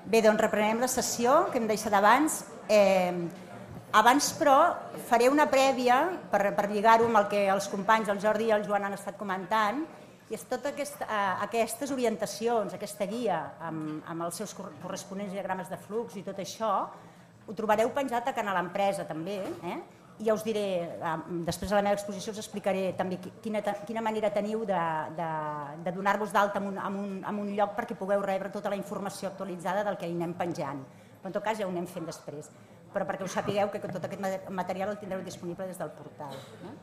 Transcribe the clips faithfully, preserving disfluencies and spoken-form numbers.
Bé, doncs reprenem la sessió que hem deixat abans. Eh, abans, però, faré una prèvia per, per lligar-ho amb el que els companys, el Jordi i el Joan, han estat comentant, i és totes aquest, eh, aquestes orientacions, aquesta guia amb, amb els seus corresponents diagrames de flux i tot això, ho trobareu penjat a Canal Empresa també, eh? I ja us diré, després de la meva exposició us explicaré també quina, quina manera teniu de, de, de donar-vos d'alta en, un, en, un, en un lloc perquè pugueu rebre tota la informació actualitzada del que hi anem penjant. Però en tot cas ja ho anem fent després, però perquè us sapigueu que tot aquest material el tindreu disponible des del portal. No?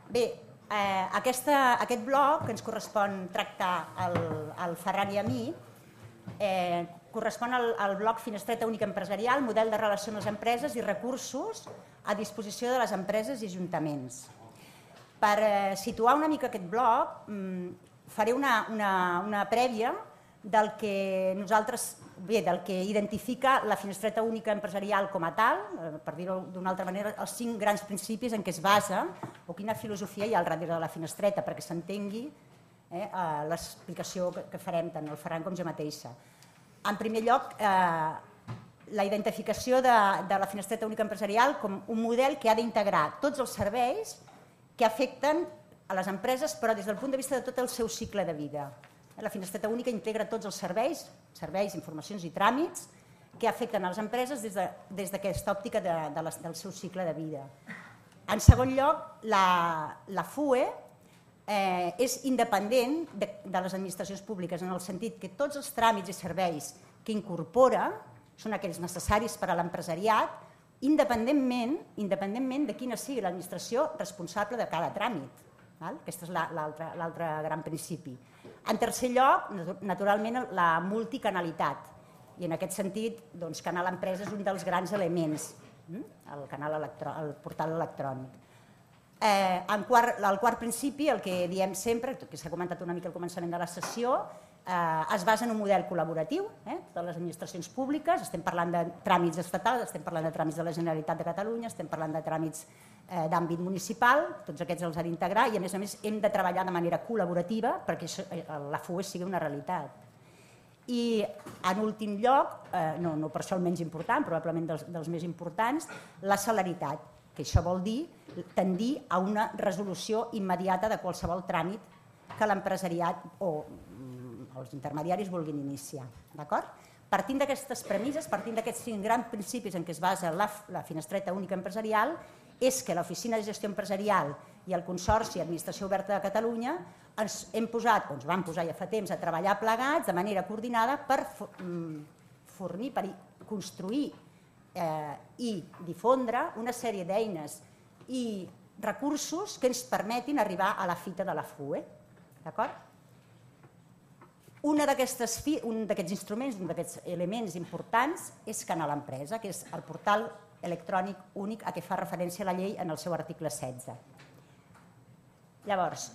Bé, eh, aquesta, aquest bloc que ens correspon tractar al, al Ferran i a mi, eh, correspon al, al bloc Finestreta Única Empresarial, model de relació amb les empreses i recursos a disposició de les empreses i ajuntaments. Per eh, situar una mica aquest bloc, mm, faré una, una, una prèvia del que nosaltres, bé, del que identifica la Finestreta Única Empresarial com a tal, eh, per dir-ho d'una altra manera, els cinc grans principis en què es basa o quina filosofia hi ha al darrere de la finestreta, perquè s'entengui eh, l'explicació que, que farem tant el Ferran com jo mateixa. En primer lloc, eh, la identificació de, de la Finestreta Única Empresarial com un model que ha d'integrar tots els serveis que afecten a les empreses, però des del punt de vista de tot el seu cicle de vida. La Finestreta Única integra tots els serveis, serveis, informacions i tràmits que afecten a les empreses des d'aquesta de, òptica de, de les, del seu cicle de vida. En segon lloc, la, la F U E eh, és independent de, de les administracions públiques, en el sentit que tots els tràmits i serveis que incorpora són aquells necessaris per a l'empresariat, independentment, independentment de quina sigui l'administració responsable de cada tràmit. Val? Aquest és l'altre gran principi. En tercer lloc, naturalment, la multicanalitat. I en aquest sentit, doncs, Canal Empresa és un dels grans elements, el, canal electrò, el portal electrònic. Eh, en quart, el quart principi, el que diem sempre, que s'ha comentat una mica al començament de la sessió, eh, es basa en un model col·laboratiu eh, de les administracions públiques. Estem parlant de tràmits estatals, estem parlant de tràmits de la Generalitat de Catalunya, estem parlant de tràmits eh, d'àmbit municipal, tots aquests els ha d'integrar i a més a més hem de treballar de manera col·laborativa perquè això, la F U E sigui una realitat. I en últim lloc, eh, no, no per això el menys important, probablement dels, dels més importants, la celeritat, que això vol dir tendir a una resolució immediata de qualsevol tràmit que l'empresariat o els intermediaris vulguin iniciar. Partint d'aquestes premisses, partint d'aquests cinc grans principis en què es basa la, la Finestreta Única Empresarial, és que l'Oficina de Gestió Empresarial i el Consorci Administració Oberta de Catalunya ens hem posat, o ens vam posar ja fa temps, a treballar plegats de manera coordinada per fornir, per construir eh, i difondre una sèrie d'eines i recursos que ens permetin arribar a la fita de la F U E. D'acord? Un d'aquests instruments, un d'aquests elements importants és Canal Empresa, que és el portal electrònic únic a què fa referència la llei en el seu article setze. Llavors,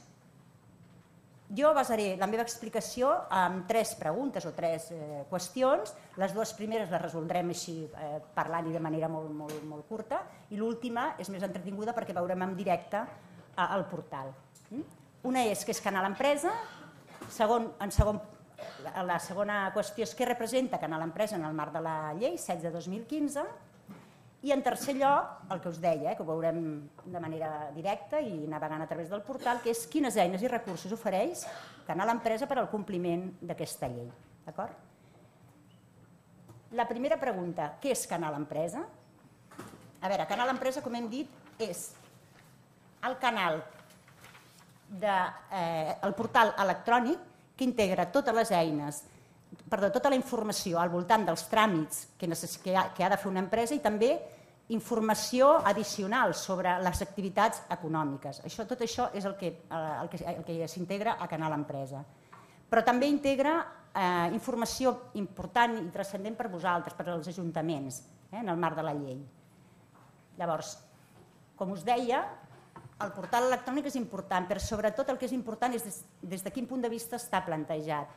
jo basaré la meva explicació en tres preguntes o tres eh, qüestions. Les dues primeres les resoldrem així eh, parlant-hi de manera molt, molt, molt curta i l'última és més entretinguda perquè veurem en directe eh, el portal. Una és que és Canal Empresa, segon, en segon la segona qüestió és què representa Canal Empresa en el marc de la llei setze dos mil quinze i en tercer lloc, el que us deia, eh, que ho veurem de manera directa i navegant a través del portal, que és quines eines i recursos ofereix Canal Empresa per al compliment d'aquesta llei. D'acord? La primera pregunta, què és Canal Empresa? A veure, Canal Empresa, com hem dit, és el canal de, eh, el portal electrònic que integra totes les eines, perdó, tota la informació al voltant dels tràmits que, que, ha, que ha de fer una empresa i també informació addicional sobre les activitats econòmiques. Això, tot això és el que, el que, el que s'integra a Canal Empresa. Però també integra eh, informació important i transcendent per vosaltres, per als ajuntaments, eh, en el marc de la llei. Llavors, com us deia, el portal electrònic és important, però sobretot el que és important és des, des de quin punt de vista està plantejat.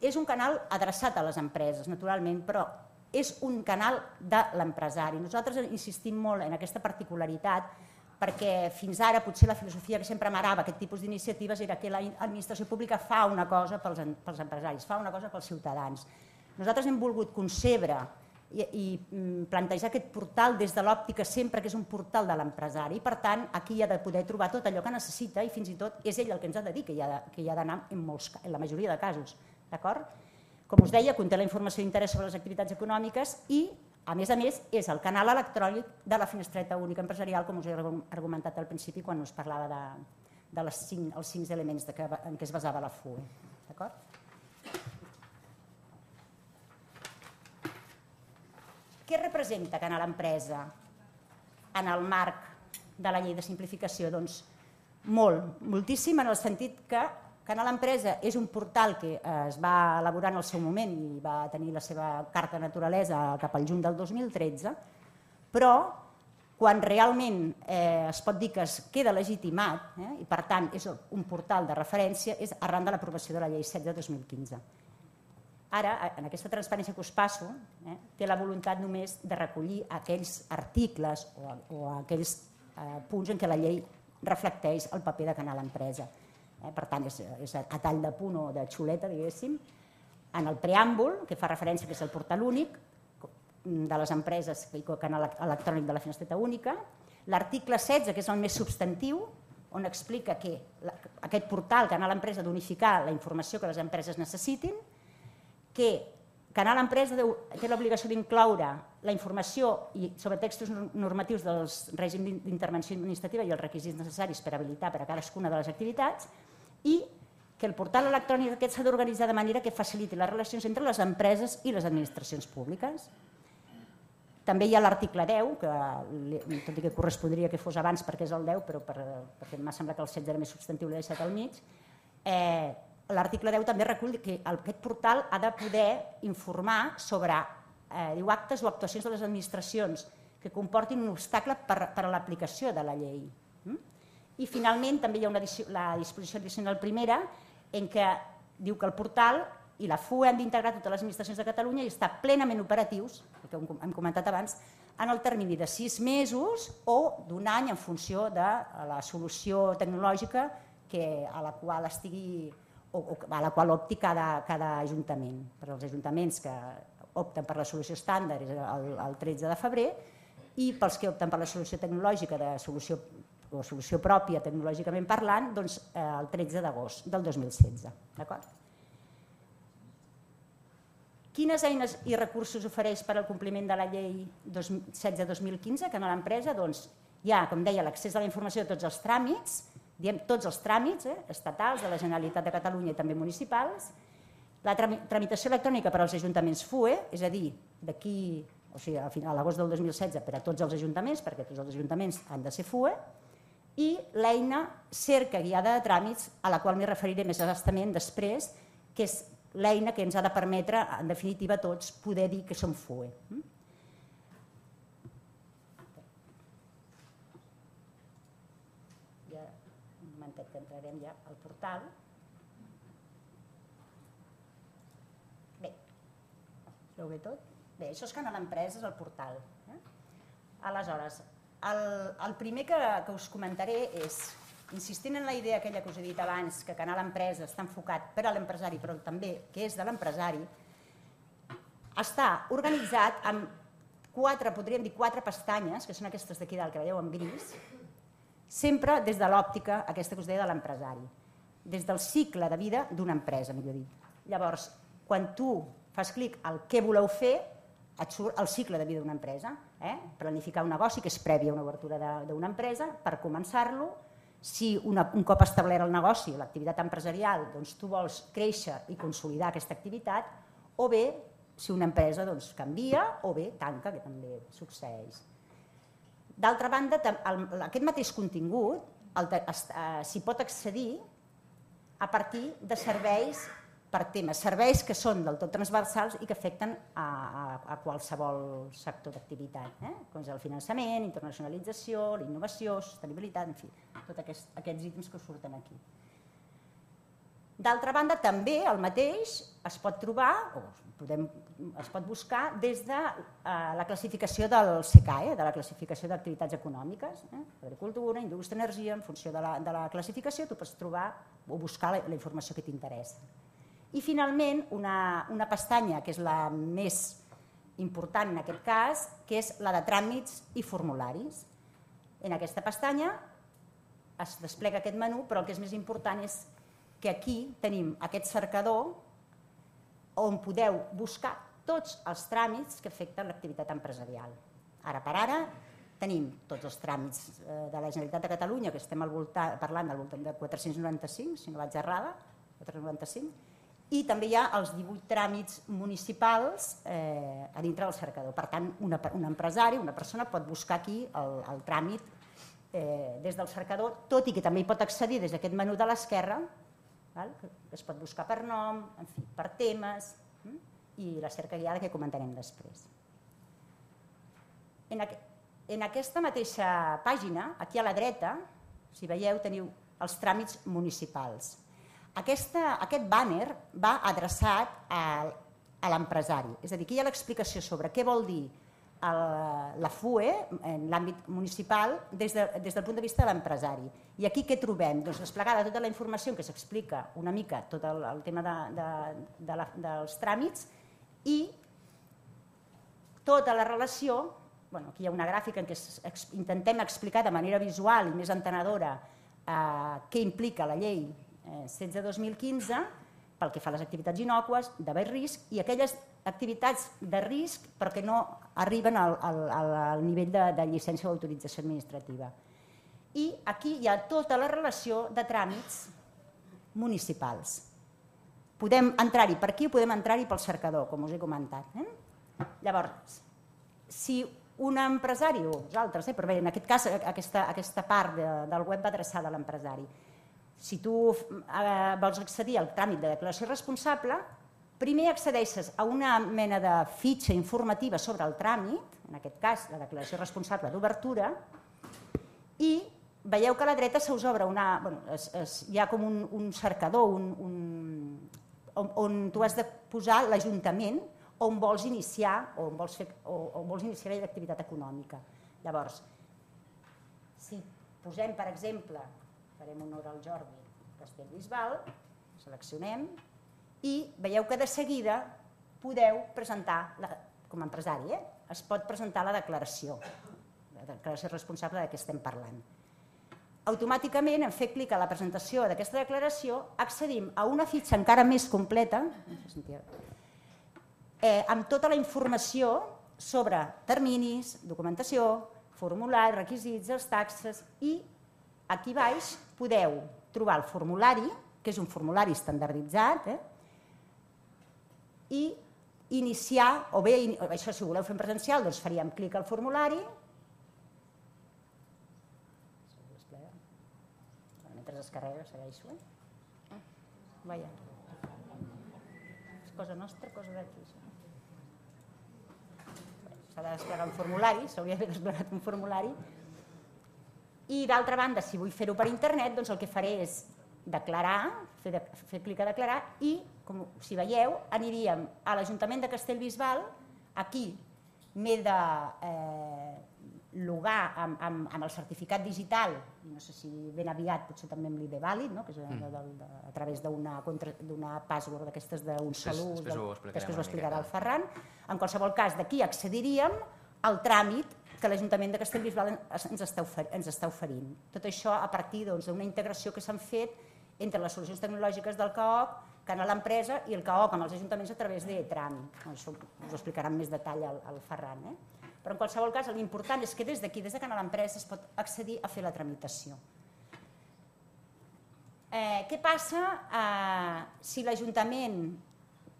És un canal adreçat a les empreses, naturalment, però és un canal de l'empresari. Nosaltres insistim molt en aquesta particularitat perquè fins ara potser la filosofia que sempre amarava aquest tipus d'iniciatives era que l'administració pública fa una cosa pels empresaris, fa una cosa pels ciutadans. Nosaltres hem volgut concebre i plantejar aquest portal des de l'òptica sempre que és un portal de l'empresari. Per tant, aquí ha de poder trobar tot allò que necessita i fins i tot és ell el que ens ha de dir que hi ha d'anar en la majoria de casos. Com us deia, conté la informació d'interès sobre les activitats econòmiques i, a més a més, és el canal electrònic de la finestreta única empresarial, com us he argumentat al principi quan us parlava dels cinc elements en què es basava la F U E. D'acord? Què representa Canal Empresa en el marc de la llei de simplificació? Doncs molt, moltíssim, en el sentit que Canal Empresa és un portal que es va elaborar en el seu moment i va tenir la seva carta de naturalesa cap al juny del dos mil tretze, però quan realment es pot dir que es queda legitimat i per tant és un portal de referència és arran de l'aprovació de la llei set de dos mil quinze. Ara, en aquesta transparència que us passo, té la voluntat només de recollir aquells articles o aquells punts en què la llei reflecteix el paper de Canal Empresa. Per tant, és a tall de punt o de xuleta, diguéssim, en el preàmbul, que fa referència que és el portal únic de les empreses i el canal electrònic de la finestreta única, l'article setze, que és el més substantiu, on explica que aquest portal, Canal Empresa, ha d'unificar la informació que les empreses necessitin, que Canal Empresa té l'obligació d'incloure la informació sobre textos normatius del règim d'intervenció administrativa i els requisits necessaris per habilitar per a cadascuna de les activitats i que el portal electrònic aquest s'ha d'organitzar de manera que faciliti les relacions entre les empreses i les administracions públiques. També hi ha l'article deu, que tot i que correspondria que fos abans perquè és el deu, però perquè m'ha semblat que el setze era més substantiu, l'he deixat al mig. L'article deu també recull que aquest portal ha de poder informar sobre actes o actuacions de les administracions que comportin un obstacle per a l'aplicació de la llei. I finalment també hi ha la disposició addicional primera en què diu que el portal i la F U E han d'integrar totes les administracions de Catalunya i estar plenament operatius, el que hem comentat abans, en el termini de sis mesos o d'un any en funció de la solució tecnològica a la qual estigui a la qual opti cada ajuntament. Per als ajuntaments que opten per la solució estàndard és el tretze de febrer i pels que opten per la solució tecnològica o solució pròpia tecnològicament parlant, doncs el tretze d'agost del dos mil setze. Quines eines i recursos ofereix per al compliment de la llei setze dos mil quinze Canal Empresa? Doncs hi ha, com deia, l'accés a la informació de tots els tràmits, diem tots els tràmits estatals de la Generalitat de Catalunya i també municipals, la tramitació electrònica per als ajuntaments F U E, és a dir, d'aquí, o sigui, a l'agost del dos mil setze per a tots els ajuntaments, perquè tots els ajuntaments han de ser F U E, i l'eina cerca guiada de tràmits, a la qual m'hi referiré més abastament després, que és l'eina que ens ha de permetre, en definitiva, a tots poder dir que som F U E. Que entrarem ja al portal. Bé, es veu bé tot? Bé, això és Canal Empresa, és el portal. Aleshores, el primer que us comentaré és, insistint en la idea aquella que us he dit abans, que Canal Empresa està enfocat per a l'empresari, però també que és de l'empresari, està organitzat amb quatre, podríem dir quatre pestanyes, que són aquestes d'aquí dalt que veieu en gris, sempre des de l'òptica, aquesta que us deia, de l'empresari, des del cicle de vida d'una empresa, millor dit. Llavors, quan tu fas clic al què voleu fer, et surt el cicle de vida d'una empresa. Planificar un negoci, que és prèvia a una obertura d'una empresa, per començar-lo. Si un cop establert el negoci, l'activitat empresarial, tu vols créixer i consolidar aquesta activitat, o bé, si una empresa canvia, o bé tanca, que també succeeix. D'altra banda, aquest mateix contingut s'hi pot accedir a partir de serveis per temes, serveis que són del tot transversals i que afecten a qualsevol sector d'activitat, com és el finançament, internacionalització, la innovació, sostenibilitat, en fi, tots aquests ítems que surten aquí. D'altra banda, també el mateix es pot trobar, o es pot buscar des de la classificació del C C A E, de la classificació d'activitats econòmiques, agricultura, indústria, energia, en funció de la classificació tu pots trobar o buscar la informació que t'interessa. I finalment una pestanya que és la més important en aquest cas, que és la de tràmits i formularis. En aquesta pestanya es desplega aquest menú, però el que és més important és que aquí tenim aquest cercador on podeu buscar tots els tràmits que afecten l'activitat empresarial. Ara per ara tenim tots els tràmits de la Generalitat de Catalunya, que estem parlant del voltant de quatre-cents noranta-cinc, si no vaig errada, quatre-cents noranta-cinc, i també hi ha els divuit tràmits municipals a dintre del cercador. Per tant, un empresari, una persona pot buscar aquí el tràmit des del cercador, tot i que també hi pot accedir des d'aquest menú de l'esquerra, que es pot buscar per nom, per temes, i la cerca guiada que comentarem després. En aquesta mateixa pàgina, aquí a la dreta, si veieu, teniu els tràmits municipals. Aquest bàner va adreçat a l'empresari, és a dir, aquí hi ha l'explicació sobre què vol dir la F U E en l'àmbit municipal des del punt de vista de l'empresari. I aquí què trobem? Doncs desplegada tota la informació en què s'explica una mica tot el tema dels tràmits i tota la relació, aquí hi ha una gràfica en què intentem explicar de manera visual i més entenedora què implica la llei setze dos mil quinze pel que fa a les activitats innòcues, de baix risc, i aquelles activitats de risc però que no arriben al nivell de llicència o autorització administrativa. I aquí hi ha tota la relació de tràmits municipals. Podem entrar-hi per aquí o podem entrar-hi pel cercador, com us he comentat. Llavors, si un empresari, o vosaltres, però bé, en aquest cas aquesta part del web va adreçada a l'empresari, si tu vols accedir al tràmit de declaració responsable, primer accedeixes a una mena de fitxa informativa sobre el tràmit, en aquest cas la declaració responsable d'obertura, i veieu que a la dreta se us obre una... hi ha com un cercador on tu has de posar l'Ajuntament on vols iniciar o on vols iniciar l'activitat econòmica. Llavors, si posem, per exemple, farem honor al Jordi Castellbisbal, seleccionem i veieu que de seguida podeu presentar, com a empresari, es pot presentar la declaració, la declaració responsable de què estem parlant. Automàticament, en fer clic a la presentació d'aquesta declaració, accedim a una fitxa encara més completa, amb tota la informació sobre terminis, documentació, formulari, requisits, els taxes, i aquí baix podeu trobar el formulari, que és un formulari estandarditzat, i iniciar, o bé, això si voleu fer en presencial, doncs faríem clic al formulari, mentre es carrega segueixo, eh? Vaja. És cosa nostra, cosa d'aquí. S'ha de desplegar un formulari, s'hauria d'haver desplegat un formulari. I d'altra banda, si vull fer-ho per internet, doncs el que faré és declarar, fer clic a declarar i, com si veieu, aniríem a l'Ajuntament de Castellbisbal, aquí m'he de logar amb el certificat digital, no sé si ben aviat potser també amb l'I D vàlid, que és a través d'una password d'aquestes d'un sol ús, després ho explicarà el Ferran. En qualsevol cas, d'aquí accediríem al tràmit que l'Ajuntament de Castellbisbal ens està oferint. Tot això a partir d'una integració que s'han fet entre les solucions tecnològiques del C A O C, Canal Empresa, i el C A O C amb els ajuntaments a través de tràmit. Això us ho explicarà amb més detall el Ferran. Però en qualsevol cas, l'important és que des d'aquí, des de Canal Empresa, es pot accedir a fer la tramitació. Què passa si l'Ajuntament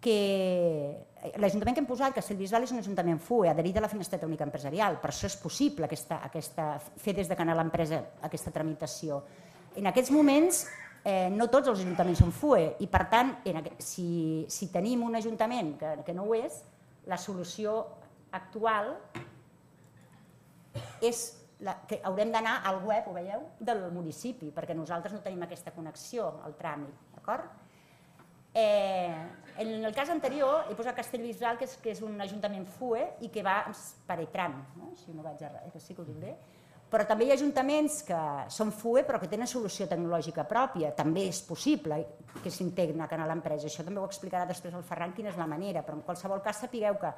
que... L'Ajuntament que hem posat, Castellbisbal, és un ajuntament F U E, adherit a la Finestreta Única Empresarial. Per això és possible fer des de Canal Empresa aquesta tramitació. En aquests moments, no tots els ajuntaments són F U E i, per tant, si tenim un ajuntament que no ho és, la solució actual és que haurem d'anar al web, ho veieu, del municipi, perquè nosaltres no tenim aquesta connexió al tràmit, d'acord? En el cas anterior he posat Castellbisbal, que és un ajuntament F U E i que va per E-Tram, si no vaig errar, que sí que ho dic bé, Però també hi ha ajuntaments que són F U E però que tenen solució tecnològica pròpia. També és possible que s'integrin a Canal Empresa. Això també ho explicarà després el Ferran quina és la manera, però en qualsevol cas sapigueu que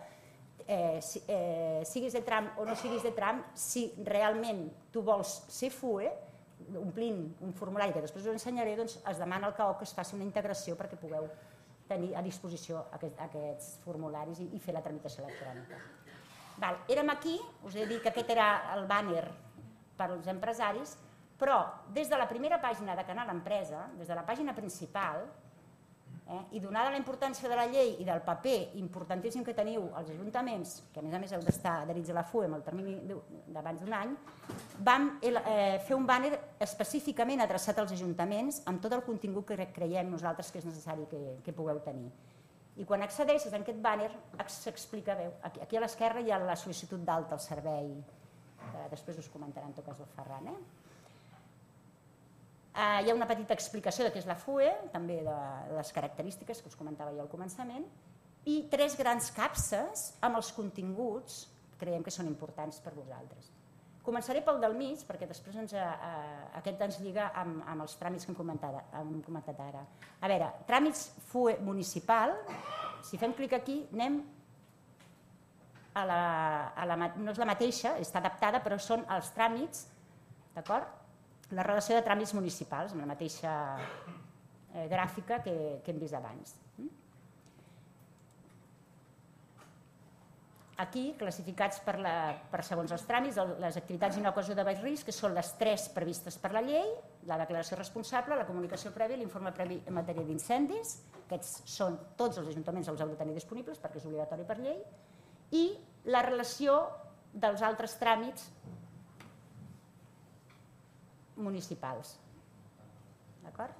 eh, si, eh, siguis de tram o no siguis de tram, si realment tu vols ser F U E, omplint un formulari que després us ensenyaré, doncs es demana al C A O que es faci una integració perquè pugueu tenir a disposició aquest, aquests formularis i, i fer la tramitació electrònica. Val, érem aquí, us he dit que aquest era el bàner per als empresaris, però des de la primera pàgina de Canal Empresa, des de la pàgina principal, eh, i donada la importància de la llei i del paper importantíssim que teniu als ajuntaments, que a més a més heu d'estar adherits a la F U E amb el termini d'abans d'un any, vam eh, fer un bàner específicament adreçat als ajuntaments amb tot el contingut que creiem nosaltres que és necessari que, que pugueu tenir. I quan accedeixes a aquest bàner s'explica bé. Aquí, aquí a l'esquerra hi ha la sol·licitud d'alta al servei, que després us comentarà en tot cas el Ferran. Eh? Uh, hi ha una petita explicació de què és la F U E, també de les característiques que us comentava jo al començament, i tres grans capses amb els continguts que creiem que són importants per vosaltres. Començaré pel del mig, perquè després ens, uh, aquest ens lliga amb, amb els tràmits que hem comentat, hem comentat ara. A veure, tràmits F U E municipal, si fem clic aquí, anem a la, a la, no és la mateixa, està adaptada, però són els tràmits, d'acord? La relació de tràmits municipals, amb la mateixa eh, gràfica que, que hem vist abans. Aquí, classificats per, la, per segons els tràmits, les activitats i no ocasió de baix risc, que són les tres previstes per la llei, la declaració responsable, la comunicació prèvia i l'informe previ en matèria d'incendis. Aquests són tots els ajuntaments, els heu de tenir disponibles perquè és obligatori per llei, i la relació dels altres tràmits municipals. D'acord?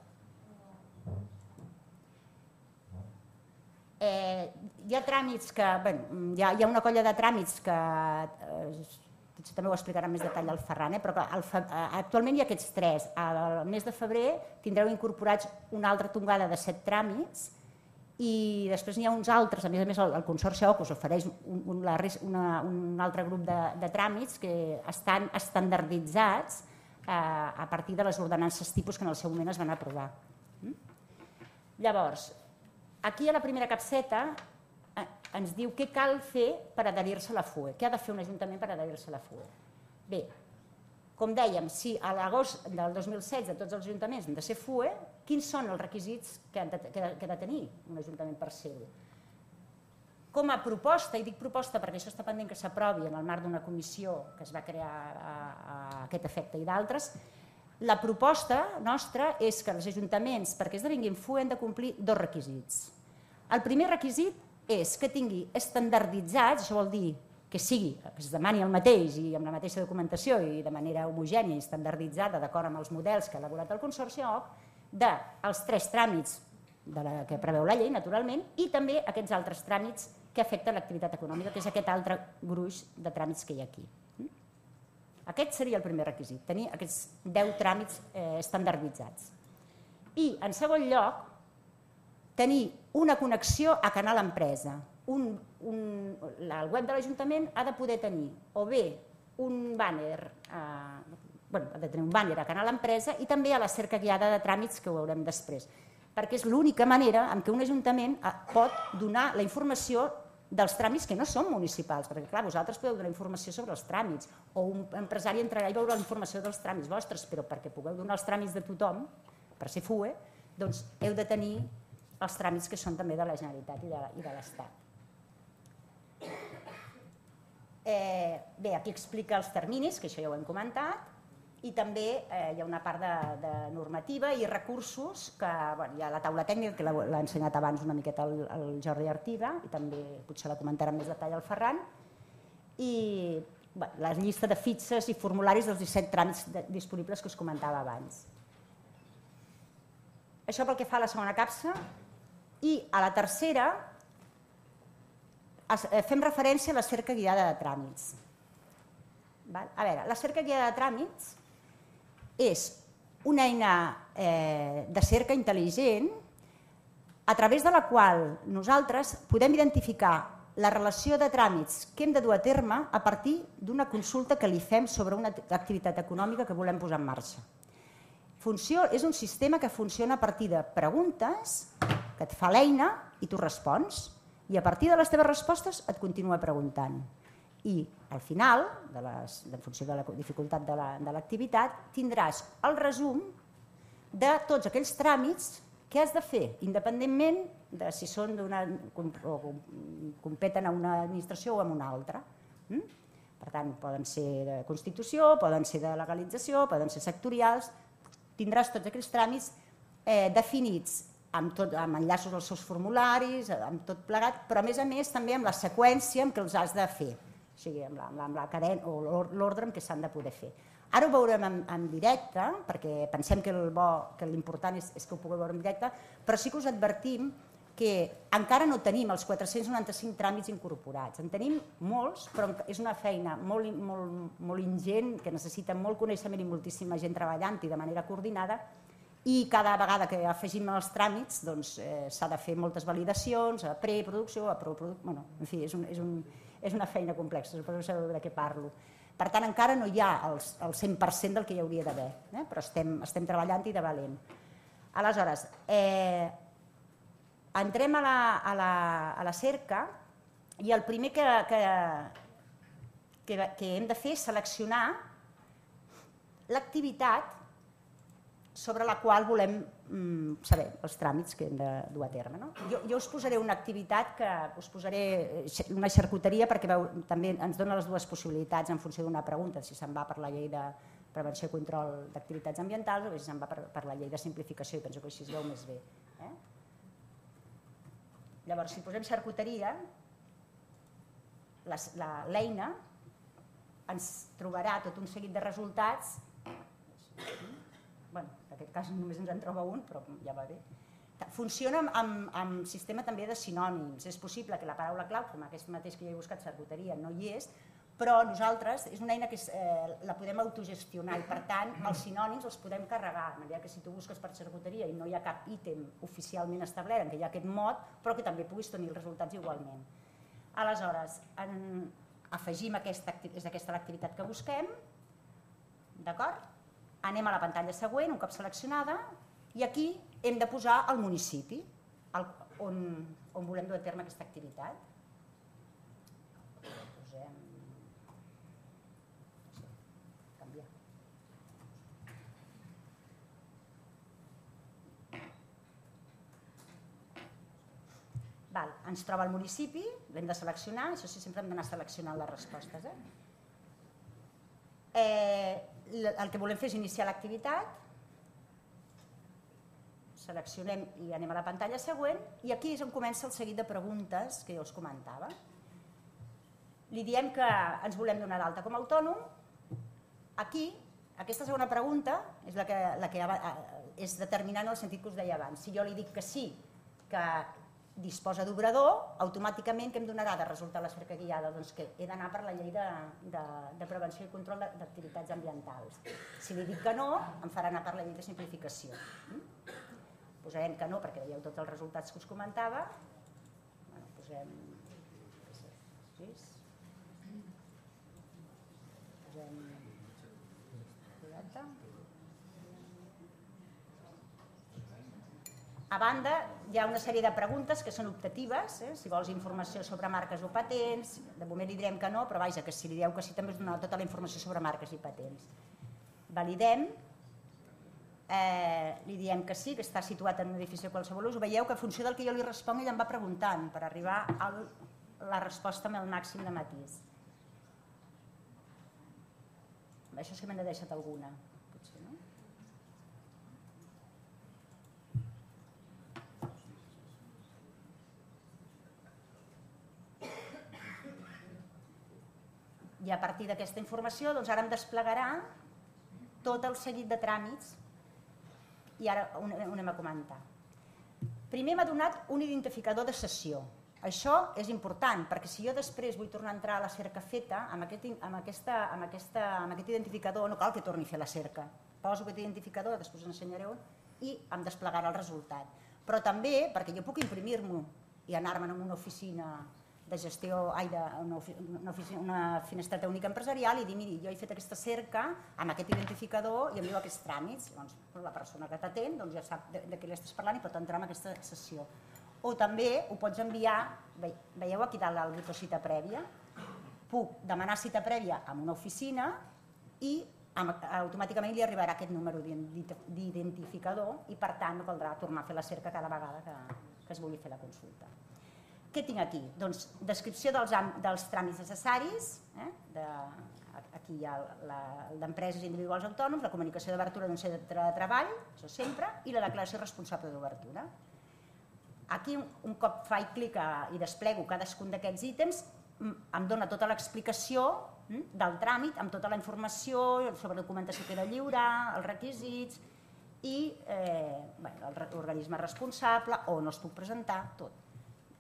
Eh, hi ha tràmits que... Bueno, hi, ha, hi ha una colla de tràmits que... Eh, també ho explicarà en més detall el Ferran, eh, però que el, actualment hi ha aquests tres. Al mes de febrer tindreu incorporats una altra tongada de set tràmits i després n'hi ha uns altres, a més a més el, el Consorci O C us ofereix un, un, la, una, un altre grup de, de tràmits que estan estandarditzats eh, a partir de les ordenances tipus que en el seu moment es van aprovar. Mm? Llavors, aquí a la primera capseta eh, ens diu què cal fer per adherir-se a la F U E, què ha de fer un ajuntament per adherir-se a la F U E. Bé, com dèiem, si a l'agost del dos mil setze tots els ajuntaments han de ser F U E, quins són els requisits que ha de, que ha de tenir un ajuntament per ser-ho? Com a proposta, i dic proposta perquè això està pendent que s'aprovi en el marc d'una comissió que es va crear a, a aquest efecte i d'altres, la proposta nostra és que els ajuntaments, perquè esdevinguin F U E, han de complir dos requisits. El primer requisit és que tingui estandarditzats, això vol dir que sigui, que es demani el mateix i amb la mateixa documentació i de manera homogènia i estandarditzada d'acord amb els models que ha elaborat el Consorci O C, dels tres tràmits de la que preveu la llei, naturalment, i també aquests altres tràmits que afecten l'activitat econòmica, que és aquest altre gruix de tràmits que hi ha aquí. Aquest seria el primer requisit, tenir aquests deu tràmits eh, estandarditzats. I, en segon lloc, tenir una connexió a Canal Empresa. Un, un, el web de l'Ajuntament ha de poder tenir o bé un bàner, eh, bueno, ha de tenir un bàner a Canal Empresa i també a la cerca guiada de tràmits que ho veurem després, perquè és l'única manera en què un Ajuntament pot donar la informació dels tràmits que no són municipals, perquè clar, vosaltres podeu donar informació sobre els tràmits o un empresari entrarà i veurà la informació dels tràmits vostres, però perquè pugueu donar els tràmits de tothom, per ser F U E, doncs heu de tenir els tràmits que són també de la Generalitat i de, i de l'Estat. Eh, bé, aquí explica els terminis, que això ja ho hem comentat, i també eh, hi ha una part de, de normativa i recursos, que bueno, hi ha la taula tècnica, que l'ha ensenyat abans una miqueta el, el Jordi Artiga, i també potser la comentarà amb més detall el Ferran, i bueno, la llista de fitxes i formularis dels disset tràmits de, disponibles que us comentava abans. Això pel que fa a la segona capsa, i a la tercera fem referència a la cerca guiada de tràmits. A veure, la cerca guiada de tràmits és una eina eh, de cerca intel·ligent a través de la qual nosaltres podem identificar la relació de tràmits que hem de dur a terme a partir d'una consulta que li fem sobre una activitat econòmica que volem posar en marxa. Funció és un sistema que funciona a partir de preguntes que et fa l'eina i tu respons, i a partir de les teves respostes et continua preguntant. I al final, de les, en funció de la dificultat de l'activitat, tindràs el resum de tots aquells tràmits que has de fer, independentment de si són d'una o competen a una administració o a una altra. Per tant, poden ser de constitució, poden ser de legalització, poden ser sectorials. Tindràs tots aquells tràmits definits amb enllaços als seus formularis, amb tot plegat, però a més a més també amb la seqüència en què els has de fer, o sigui, amb la cadena o l'ordre en què s'han de poder fer. Ara ho veurem en directe, perquè pensem que l'important és que ho pugueu veure en directe, però sí que us advertim que encara no tenim els quatre-cents noranta-cinc tràmits incorporats. En tenim molts, però és una feina molt ingent, que necessita molt coneixement i moltíssima gent treballant-hi de manera coordinada, i cada vegada que afegim els tràmits s'ha de fer moltes validacions, a preproducció, a proproducció, en fi, és una feina complexa, suposo que sabeu de què parlo. Per tant, encara no hi ha el cent per cent del que hi hauria d'haver, però estem treballant-hi de valent. Aleshores, entrem a la cerca i el primer que hem de fer és seleccionar l'activitat sobre la qual volem saber els tràmits que hem de dur a terme. Jo us posaré una activitat que us posaré una xarcuteria perquè també ens dona les dues possibilitats en funció d'una pregunta, si se'n va per la llei de prevenció i control d'activitats ambientals o si se'n va per la llei de simplificació, i penso que així es veu més bé. Llavors, si posem xarcuteria, l'eina ens trobarà tot un seguit de resultats. En aquest cas només ens en troba un, però ja va bé. Funciona amb sistema també de sinònims. És possible que la paraula clau, com aquest mateix que jo he buscat, xarcuteria, no hi és, però nosaltres és una eina que la podem autogestionar i per tant els sinònims els podem carregar, de manera que si tu busques per xarcuteria i no hi ha cap ítem oficialment establert en què hi ha aquest mot, però que també puguis tenir els resultats igualment. Aleshores, afegim aquesta, és aquesta l'activitat que busquem, d'acord? Anem a la pantalla següent, un cop seleccionada, i aquí hem de posar el municipi on volem dur a terme aquesta activitat. Posem... canviar. Ens troba el municipi, l'hem de seleccionar, això sí, sempre hem d'anar seleccionant les respostes. El que volem fer és iniciar l'activitat, seleccionem i anem a la pantalla següent i aquí és on comença el seguit de preguntes que jo us comentava. Li diem que ens volem donar d'alta com a autònom. Aquí, aquesta segona pregunta és la que és determinant en el sentit que us deia abans. Si jo li dic que sí, que disposa d'obrador, automàticament què em donarà de resultar la cerca guiada? Doncs que he d'anar per la llei de prevenció i control d'activitats ambientals. Si li dic que no, em farà anar per la llei de simplificació. Posarem que no perquè veieu tots els resultats que us comentava. Posem... Posem... A banda, hi ha una sèrie de preguntes que són optatives, si vols informació sobre marques o patents, de moment li direm que no, però vaja, que si li dieu que sí també us donarà tota la informació sobre marques i patents. Validem, li diem que sí, que està situat en un edifici de qualsevol ús, veieu que en funció del que jo li responc ell em va preguntant per arribar a la resposta amb el màxim de matís. Això sí que me n'he deixat alguna, potser, no? I a partir d'aquesta informació ara em desplegarà tot el seguit de tràmits i ara ho anem a comentar. Primer m'ha donat un identificador de sessió. Això és important perquè si jo després vull tornar a entrar a la cerca feta, amb aquest identificador no cal que torni a fer la cerca. Poso aquest identificador, després us ensenyaré on, i em desplegarà el resultat. Però també perquè jo puc imprimir-m'ho i anar-me'n a una oficina de gestió, ai, d'una finestreta única empresarial i dir, miri, jo he fet aquesta cerca amb aquest identificador i em diu aquests tràmits. Llavors, la persona que t'atén ja sap de què li estàs parlant i pot entrar en aquesta sessió. O també ho pots enviar, veieu aquí dalt el botó cita prèvia, puc demanar cita prèvia en una oficina i automàticament li arribarà aquest número d'identificador i per tant no caldrà tornar a fer la cerca cada vegada que es vulgui fer la consulta. Què tinc aquí? Doncs descripció dels tràmits necessaris, aquí hi ha d'empreses individuals autònoms, la comunicació d'obertura d'un centre de treball, això sempre, i la declaració responsable d'obertura. Aquí, un cop faig clic i desplego cadascun d'aquests ítems, em dona tota l'explicació del tràmit, amb tota la informació sobre la documentació que he de lliurar, els requisits i l'organisme responsable, on no es puc presentar, tot.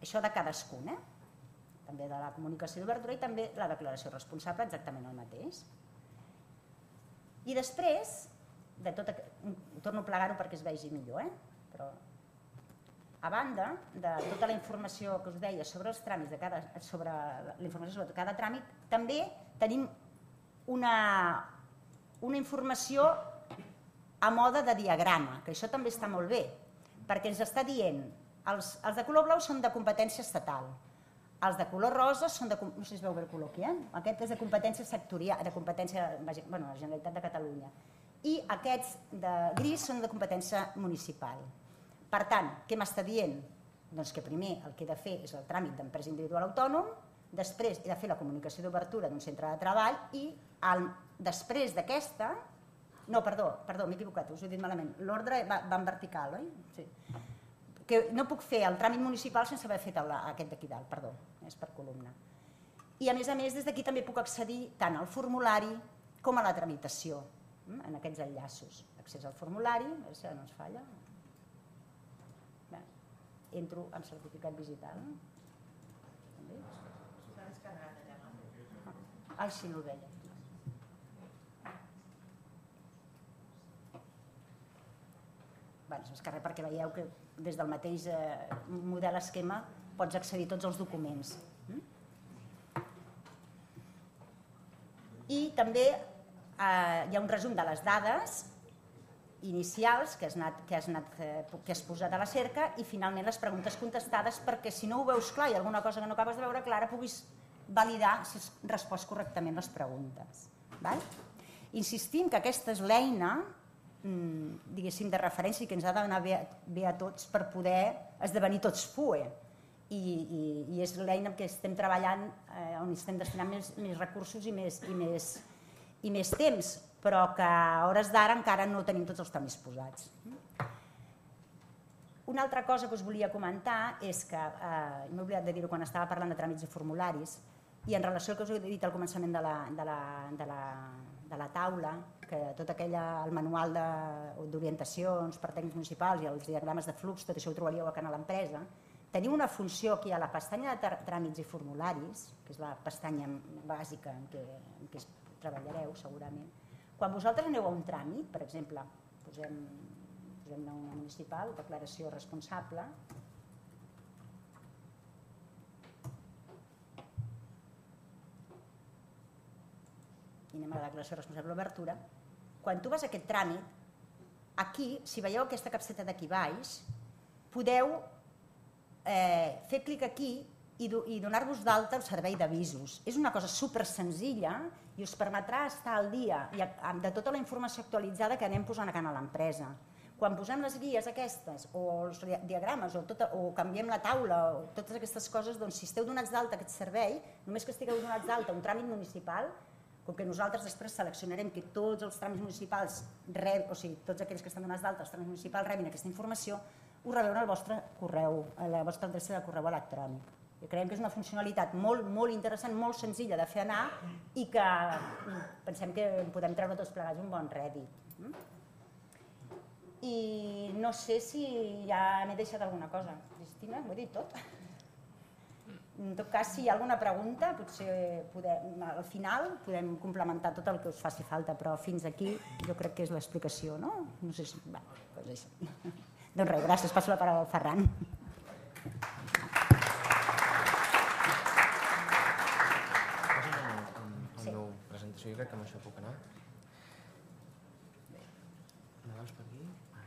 Això de cadascun, també de la comunicació d'obertura i també la declaració responsable, exactament el mateix. I després, torno a plegar-ho perquè es vegi millor, però a banda de tota la informació que us deia sobre els tràmits, sobre la informació sobre cada tràmit, també tenim una informació a mode de diagrama, que això també està molt bé, perquè ens està dient els de color blau són de competència estatal, els de color rosa són de, no sé si es veu bé el color aquí, aquest és de competència sectorial, de competència, bueno, la Generalitat de Catalunya, i aquests de gris són de competència municipal. Per tant, què m'està dient? Doncs que primer el que he de fer és el tràmit d'empresa individual autònom, després he de fer la comunicació d'obertura d'un centre de treball i després d'aquesta, no, perdó, perdó, m'he equivocat, us ho he dit malament, l'ordre va en vertical, oi? Sí. Que no puc fer el tràmit municipal sense haver fet aquest d'aquí dalt, perdó, és per columna. I a més a més, des d'aquí també puc accedir tant al formulari com a la tramitació, en aquests enllaços. Accés al formulari, a veure si no ens falla. Entro en certificat digital. S'ha descarregat allà. Ai, sí, no ho veia. Es descarrega perquè veieu que des del mateix model esquema pots accedir a tots els documents. I també hi ha un resum de les dades inicials que has posat a la cerca i finalment les preguntes contestades perquè si no ho veus clar i alguna cosa que no acabes de veure clara puguis validar si has respost correctament les preguntes. Insistim que aquesta és l'eina diguéssim de referència i que ens ha d'anar bé a tots per poder esdevenir tots F U E i és l'eina en què estem treballant on estem destinant més recursos i més temps, però que a hores d'ara encara no tenim tots els tràmits posats. Una altra cosa que us volia comentar és que, m'he oblidat de dir-ho quan estava parlant de tràmits i formularis, i en relació al que us he dit al començament de la taula, que tot aquell manual d'orientacions per tècnics municipals i els diagrames de flux, tot això ho trobaríeu a Canal Empresa, teniu una funció aquí a la pestanya de tràmits i formularis, que és la pestanya bàsica en què treballareu segurament. Quan vosaltres aneu a un tràmit, per exemple, posem una municipal, declaració responsable, i anem a la declaració responsable d'obertura, quan tu vas a aquest tràmit, aquí, si veieu aquesta capseta d'aquí baix, podeu fer clic aquí i donar-vos d'alta el servei d'avisos. És una cosa super senzilla i us permetrà estar al dia de tota la informació actualitzada que anem posant a Canal Empresa. Quan posem les guies aquestes o els diagrames o canviem la taula o totes aquestes coses, doncs si esteu donats d'alta aquest servei, només que estigueu donats d'alta un tràmit municipal, com que nosaltres després seleccionarem que tots els tràmits municipals, o sigui, tots aquells que estan donats d'alta, els tràmits municipals rebin aquesta informació, ho rebeu al vostre correu, a la vostra adreça de correu electrònic. Creiem que és una funcionalitat molt, molt interessant, molt senzilla de fer anar i que pensem que podem treure tots plegats un bon rèdit. I no sé si ja m'he deixat alguna cosa. Cristina, m'ho he dit tot? En tot cas, si hi ha alguna pregunta, potser al final podem complementar tot el que us faci falta, però fins aquí jo crec que és l'explicació, no? No sé si... Doncs això. Doncs res, gràcies. Passo la paraula al Ferran. crec que amb això puc anar. Endavant per aquí. Ah,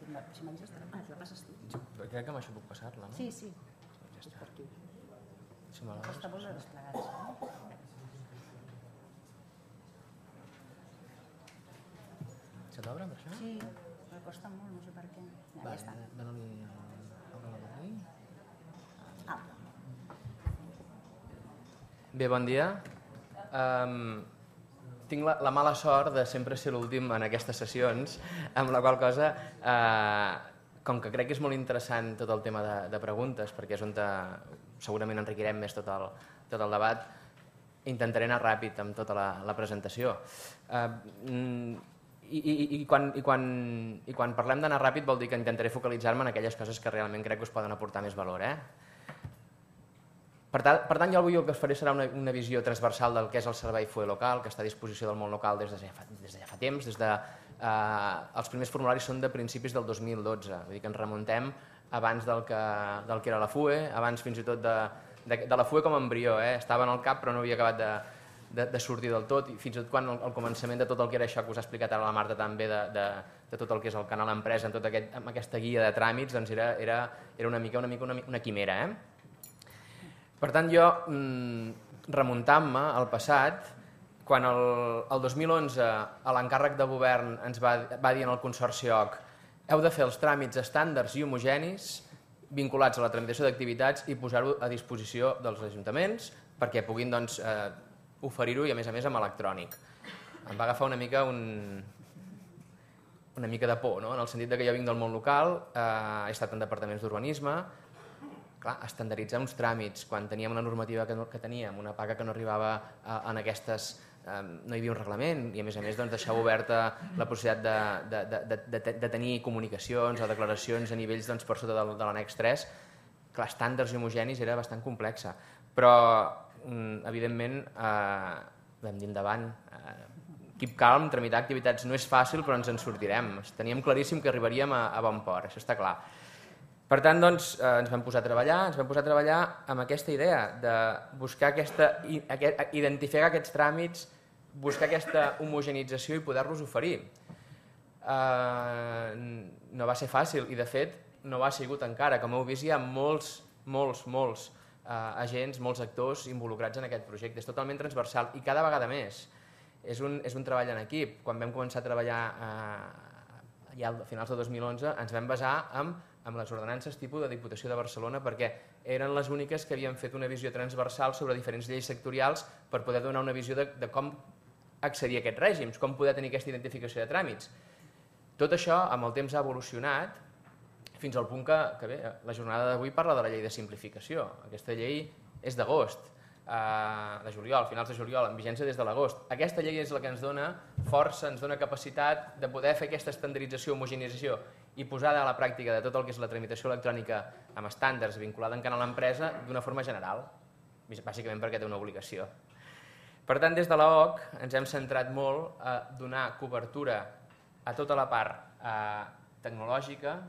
exacte. Si m'hagués estat... Ah, la passes tu. Crec que amb això puc passar-la, no? Sí, sí. Ja està. Per aquí. Si me la Està molt desplegats. Se t'obre per això? Sí, però costa molt, no sé per què. Ja, ja està. Dóna-li obre-la per aquí. Ah. Bé, bon dia. Um, tinc la, la mala sort de sempre ser l'últim en aquestes sessions, amb la qual cosa, uh, com que crec que és molt interessant tot el tema de, de preguntes, perquè és on te, segurament enriquirem més tot el, tot el debat, intentaré anar ràpid amb tota la, la presentació. Uh, i, i, i, quan, i, quan, I quan parlem d'anar ràpid vol dir que intentaré focalitzar-me en aquelles coses que realment crec que us poden aportar més valor. Eh? Per tant, per tant, jo avui el que us faré serà una, una visió transversal del que és el servei F U E local, que està a disposició del món local des de ja fa, des de ja fa temps. Des de, eh, els primers formularis són de principis del dos mil dotze, vull dir que ens remuntem abans del que, del que era la F U E, abans fins i tot de, de, de la F U E com a embrió. Eh? Estava en el cap però no havia acabat de, de, de sortir del tot, i fins i tot quan el, el començament de tot el que era això que us ha explicat ara la Marta també, de, de, de tot el que és el canal empresa, amb, tot aquest, amb aquesta guia de tràmits, doncs era, era, era una mica una, mica una, una quimera. Eh? Per tant, jo, remuntant-me al passat, quan el, el dos mil onze a l'encàrrec de govern ens va, va dir en el Consorci O C heu de fer els tràmits estàndards i homogenis vinculats a la tramitació d'activitats i posar-ho a disposició dels ajuntaments perquè puguin doncs, eh, oferir-ho i a més a més amb electrònic. Em va agafar una mica un, una mica de por, no? En el sentit de que jo vinc del món local, eh, he estat en departaments d'urbanisme. Clar, estandarditzar uns tràmits quan teníem una normativa que, no, que teníem, una paga que no arribava a, en aquestes, eh, no hi havia un reglament i a més a més doncs, deixar oberta la possibilitat de, de, de, de, de tenir comunicacions o declaracions a nivells doncs, per sota de, de l'annex tres, clar, estàndards i homogenis era bastant complexa, però evidentment eh, vam dir endavant, eh, keep calm, tramitar activitats no és fàcil però ens en sortirem, teníem claríssim que arribaríem a, a bon port, això està clar. Per tant, doncs, eh, ens vam posar a treballar, ens vam posar a treballar amb aquesta idea de buscar aquesta, aquest, identificar aquests tràmits, buscar aquesta homogenització i poder-los oferir. Eh, no va ser fàcil i, de fet, no ho ha sigut encara. Com heu vist, hi ha molts, molts, molts eh, agents, molts actors involucrats en aquest projecte. És totalment transversal i cada vegada més. És un, és un treball en equip. Quan vam començar a treballar eh, ja a finals de dos mil onze, ens vam basar en amb les ordenances tipus de Diputació de Barcelona perquè eren les úniques que havien fet una visió transversal sobre diferents lleis sectorials per poder donar una visió de, de com accedir a aquests règims, com poder tenir aquesta identificació de tràmits. Tot això amb el temps ha evolucionat fins al punt que, que bé, la jornada d'avui parla de la llei de simplificació. Aquesta llei és d'agost, eh, de juliol, finals de juliol, en vigència des de l'agost. Aquesta llei és la que ens dona força, ens dona capacitat de poder fer aquesta estandardització, homogenització i posada a la pràctica de tot el que és la tramitació electrònica amb estàndards vinculada en canal empresa d'una forma general, bàsicament perquè té una obligació. Per tant, des de l'O C ens hem centrat molt a donar cobertura a tota la part eh, tecnològica,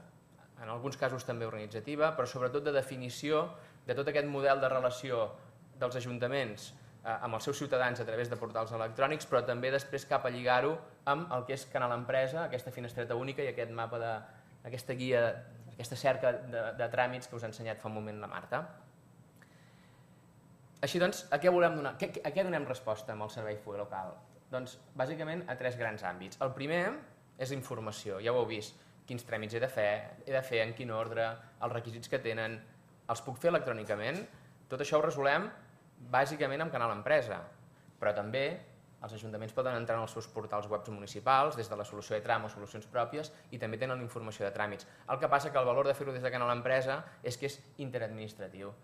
en alguns casos també organitzativa, però sobretot de definició de tot aquest model de relació dels ajuntaments amb els seus ciutadans a través de portals electrònics, però també després cap a lligar-ho amb el que és Canal Empresa, aquesta finestreta única i aquest mapa de, aquesta guia, aquesta cerca de, de tràmits que us ha ensenyat fa un moment la Marta. Així doncs, a què volem donar? A què donem resposta amb el servei F U E local? Doncs bàsicament a tres grans àmbits. El primer és informació, ja ho heu vist, quins tràmits he de fer, he de fer en quin ordre, els requisits que tenen, els puc fer electrònicament, tot això ho resolem bàsicament amb Canal Empresa, però també els ajuntaments poden entrar en els seus portals webs municipals des de la solució e-tram o solucions pròpies i també tenen informació de tràmits. El que passa que el valor de fer-ho des de Canal Empresa és que és interadministratiu.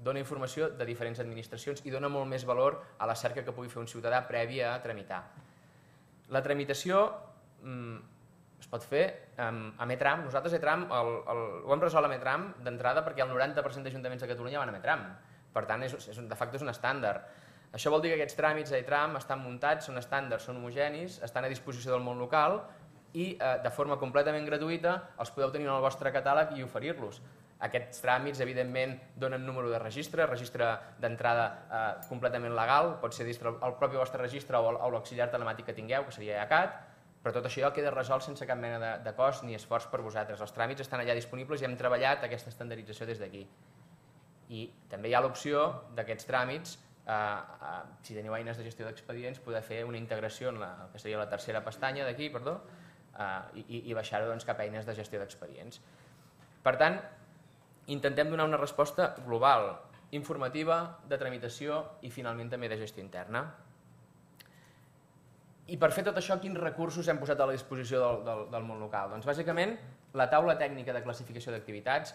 Dona informació de diferents administracions i dona molt més valor a la cerca que pugui fer un ciutadà prèvia a tramitar. La tramitació mm, es pot fer amb, amb e-tram. Nosaltres e-tram el, el, ho hem resolt amb e-tram d'entrada perquè el noranta per cent d'ajuntaments de Catalunya van amb e-tram. Per tant, és, és, de facto és un estàndard. Això vol dir que aquests tràmits a e-tram estan muntats, són estàndards, són homogenis, estan a disposició del món local i eh, de forma completament gratuïta els podeu tenir en el vostre catàleg i oferir-los. Aquests tràmits, evidentment, donen número de registre, registre d'entrada eh, completament legal, pot ser el propi vostre registre o l'auxiliar telemàtic que tingueu, que seria I A C A T, però tot això queda resolt sense cap mena de, de cost ni esforç per vosaltres. Els tràmits estan allà disponibles i hem treballat aquesta estandardització des d'aquí. I també hi ha l'opció d'aquests tràmits, eh, eh, si teniu eines de gestió d'expedients, poder fer una integració en la, que seria la tercera pestanya d'aquí, perdó, eh, i, i baixar-ho doncs, cap a eines de gestió d'expedients. Per tant, intentem donar una resposta global, informativa, de tramitació i finalment també de gestió interna. I per fer tot això, quins recursos hem posat a la disposició del, del, del món local? Doncs bàsicament la taula tècnica de classificació d'activitats,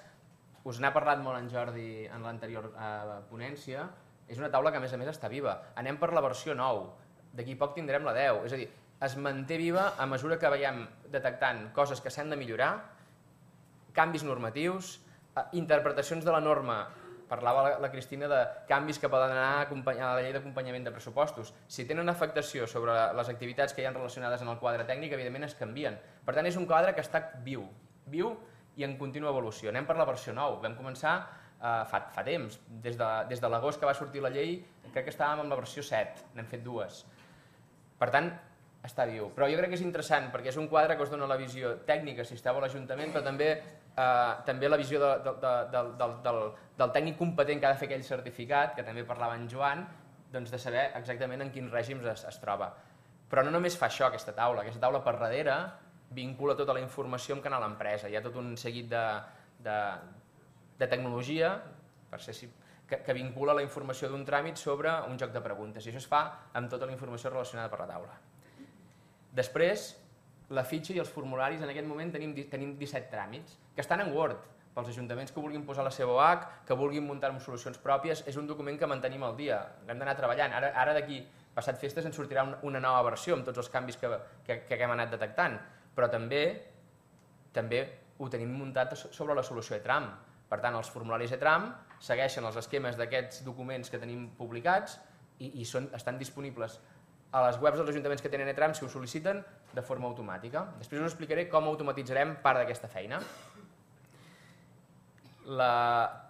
us n'ha parlat molt en Jordi en l'anterior eh, ponència, és una taula que a més a més està viva. Anem per la versió nou, d'aquí poc tindrem la deu, és a dir, es manté viva a mesura que veiem detectant coses que s'han de millorar, canvis normatius, eh, interpretacions de la norma. Parlava la, la Cristina de canvis que poden anar a la llei d'acompanyament de pressupostos. Si tenen afectació sobre les activitats que hi ha relacionades en el quadre tècnic, evidentment es canvien. Per tant, és un quadre que està viu, viu i en contínua evolució. Anem per la versió nou. Vam començar eh, fa, fa temps, des de, des de l'agost que va sortir la llei, crec que estàvem en la versió set, n'hem fet dues. Per tant, està viu. Però jo crec que és interessant perquè és un quadre que us dona la visió tècnica si esteu a l'Ajuntament, però també Uh, també la visió de, de, de, de, del, del, del tècnic competent que ha de fer aquell certificat, que també parlava en Joan, doncs de saber exactament en quins règims es, es troba. Però no només fa això aquesta taula, aquesta taula per darrere vincula tota la informació amb canal empresa. Hi ha tot un seguit de, de, de tecnologia per ser, que, que vincula la informació d'un tràmit sobre un joc de preguntes, i això es fa amb tota la informació relacionada per la taula. Després, la fitxa i els formularis, en aquest moment tenim, tenim disset tràmits, que estan en Word, pels ajuntaments que vulguin posar la seva O H, que vulguin muntar solucions pròpies, és un document que mantenim al dia, hem d'anar treballant. Ara, ara d'aquí, passat festes, ens sortirà un, una nova versió amb tots els canvis que, que, que hem anat detectant, però també, també ho tenim muntat sobre la solució E-Tram. Per tant, els formularis E-Tram segueixen els esquemes d'aquests documents que tenim publicats i, i són, estan disponibles a les webs dels ajuntaments que tenen E-Tram, si ho sol·liciten, de forma automàtica. Després us explicaré com automatitzarem part d'aquesta feina. La,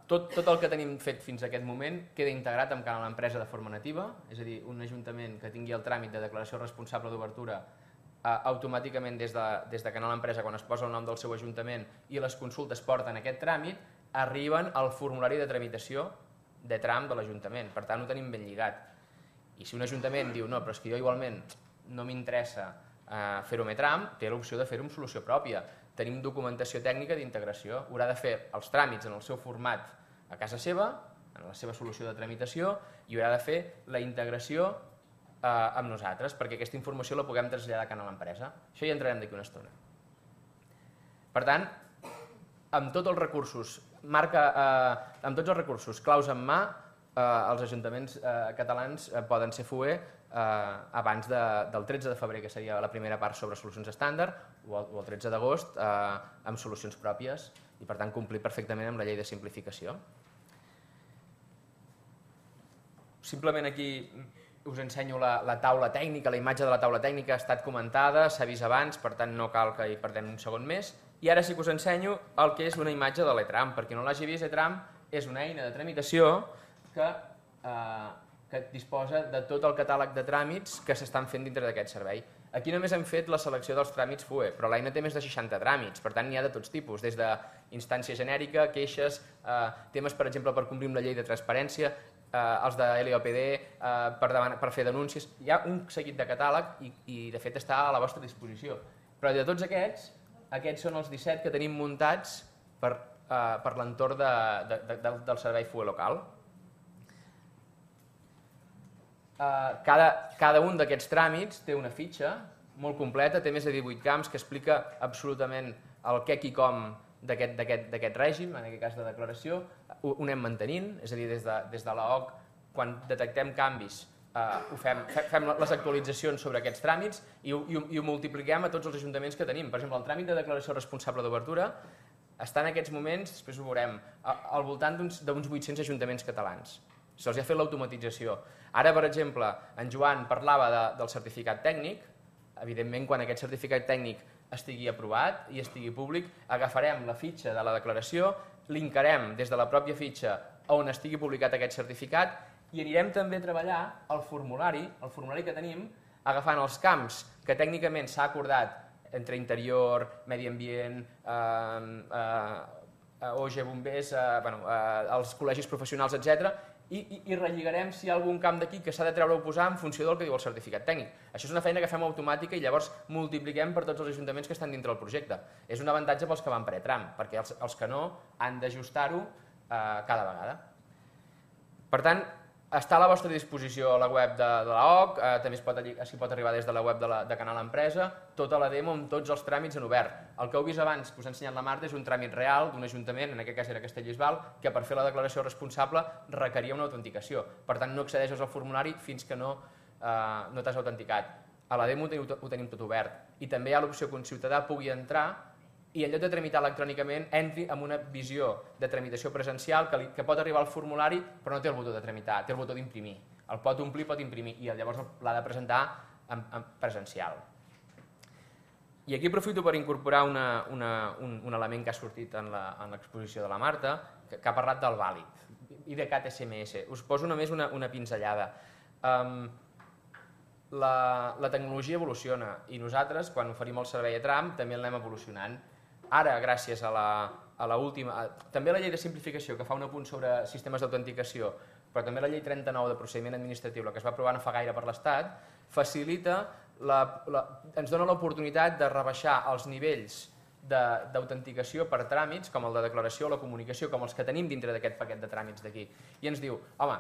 tot, tot el que tenim fet fins a aquest moment queda integrat amb Canal Empresa de forma nativa, és a dir, un ajuntament que tingui el tràmit de declaració responsable d'obertura eh, automàticament des de, des de Canal Empresa, quan es posa el nom del seu ajuntament i les consultes porten aquest tràmit, arriben al formulari de tramitació de tram de l'Ajuntament. Per tant, ho tenim ben lligat. I si un ajuntament diu, no, però és que jo igualment no m'interessa eh, fer-ho amb E-Tram, té l'opció de fer-ho amb solució pròpia. Tenim documentació tècnica d'integració, haurà de fer els tràmits en el seu format a casa seva, en la seva solució de tramitació, i haurà de fer la integració eh, amb nosaltres, perquè aquesta informació la puguem traslladar a Canal Empresa. Això hi entrarem d'aquí una estona. Per tant, amb tots els recursos, marca, eh, amb tots els recursos claus en mà, eh, els ajuntaments eh, catalans eh, poden ser F U E eh, abans de, del tretze de febrer, que seria la primera part sobre solucions estàndard, o el, o el tretze d'agost eh, amb solucions pròpies i per tant complir perfectament amb la llei de simplificació. Simplement aquí us ensenyo la, la taula tècnica, la imatge de la taula tècnica ha estat comentada, s'ha vist abans, per tant no cal que hi perdem un segon més. I ara sí que us ensenyo el que és una imatge de l'E-Tram. Per qui no l'hagi vist, E-Tram és una eina de tramitació que, eh, que disposa de tot el catàleg de tràmits que s'estan fent dintre d'aquest servei. Aquí només hem fet la selecció dels tràmits F U E, però l'eina té més de seixanta tràmits, per tant n'hi ha de tots tipus, des d'instància genèrica, queixes, eh, temes per exemple per complir amb la llei de transparència, eh, els de L O P D, eh, per, per fer denúncies. Hi ha un seguit de catàleg i, i de fet està a la vostra disposició. Però de tots aquests, aquests són els disset que tenim muntats per, eh, per l'entorn de, de, de, del servei F U E local. Uh, cada, cada un d'aquests tràmits té una fitxa molt completa, té més de divuit camps que explica absolutament el què i com d'aquest règim, en aquest cas de declaració. Ho, ho anem mantenint, és a dir, des de, des de l'A O C, quan detectem canvis, uh, ho fem, fem les actualitzacions sobre aquests tràmits i ho, i, ho, i ho multipliquem a tots els ajuntaments que tenim. Per exemple, el tràmit de declaració responsable d'obertura està en aquests moments, després ho veurem, al voltant d'uns vuit-cents ajuntaments catalans. Se'ls ha fet l'automatització. Ara, per exemple, en Joan parlava de, del certificat tècnic. Evidentment, quan aquest certificat tècnic estigui aprovat i estigui públic, agafarem la fitxa de la declaració, linkarem des de la pròpia fitxa on estigui publicat aquest certificat i anirem també a treballar el formulari, el formulari que tenim, agafant els camps que tècnicament s'ha acordat entre interior, medi ambient, eh, eh, O G bombers, eh, bueno, eh, els col·legis professionals, etcètera, i, i, i relligarem si hi ha algun camp d'aquí que s'ha de treure o posar en funció del que diu el certificat tècnic. Això és una feina que fem automàtica i llavors multipliquem per tots els ajuntaments que estan dintre del projecte. És un avantatge pels que van per e-tram, perquè els, els que no han d'ajustar-ho eh, cada vegada. Per tant, està a la vostra disposició la web de, de l'A O C, eh, també es pot, es pot arribar des de la web de, la, de Canal Empresa, tota la demo amb tots els tràmits en obert. El que heu vist abans, que us ha ensenyat la Marta, és un tràmit real d'un ajuntament, en aquest cas era Castellbisbal, que per fer la declaració responsable requeria una autenticació. Per tant, no accedeixes al formulari fins que no, eh, no t'has autenticat. A la demo ho, ho tenim tot obert. I també hi ha l'opció que un ciutadà pugui entrar i en lloc de tramitar electrònicament entri amb una visió de tramitació presencial que, li, que pot arribar al formulari però no té el botó de tramitar, té el botó d'imprimir. El pot omplir, pot imprimir i llavors l'ha de presentar en, en presencial. I aquí aprofito per incorporar una, una, un, un element que ha sortit en l'exposició de la Marta, que, que ha parlat del vàlid, IDCAT S M S. Us poso només una, una pinzellada. Um, la, la tecnologia evoluciona i nosaltres, quan oferim el servei a tram, també l'anem evolucionant. Ara, gràcies a la, a la última, a, també la llei de simplificació, que fa un apunt sobre sistemes d'autenticació, però també la llei trenta-nou de procediment administratiu, la que es va aprovar no fa gaire per l'Estat, facilita, la, la, ens dona l'oportunitat de rebaixar els nivells d'autenticació per tràmits, com el de declaració o la comunicació, com els que tenim dintre d'aquest paquet de tràmits d'aquí. I ens diu, home,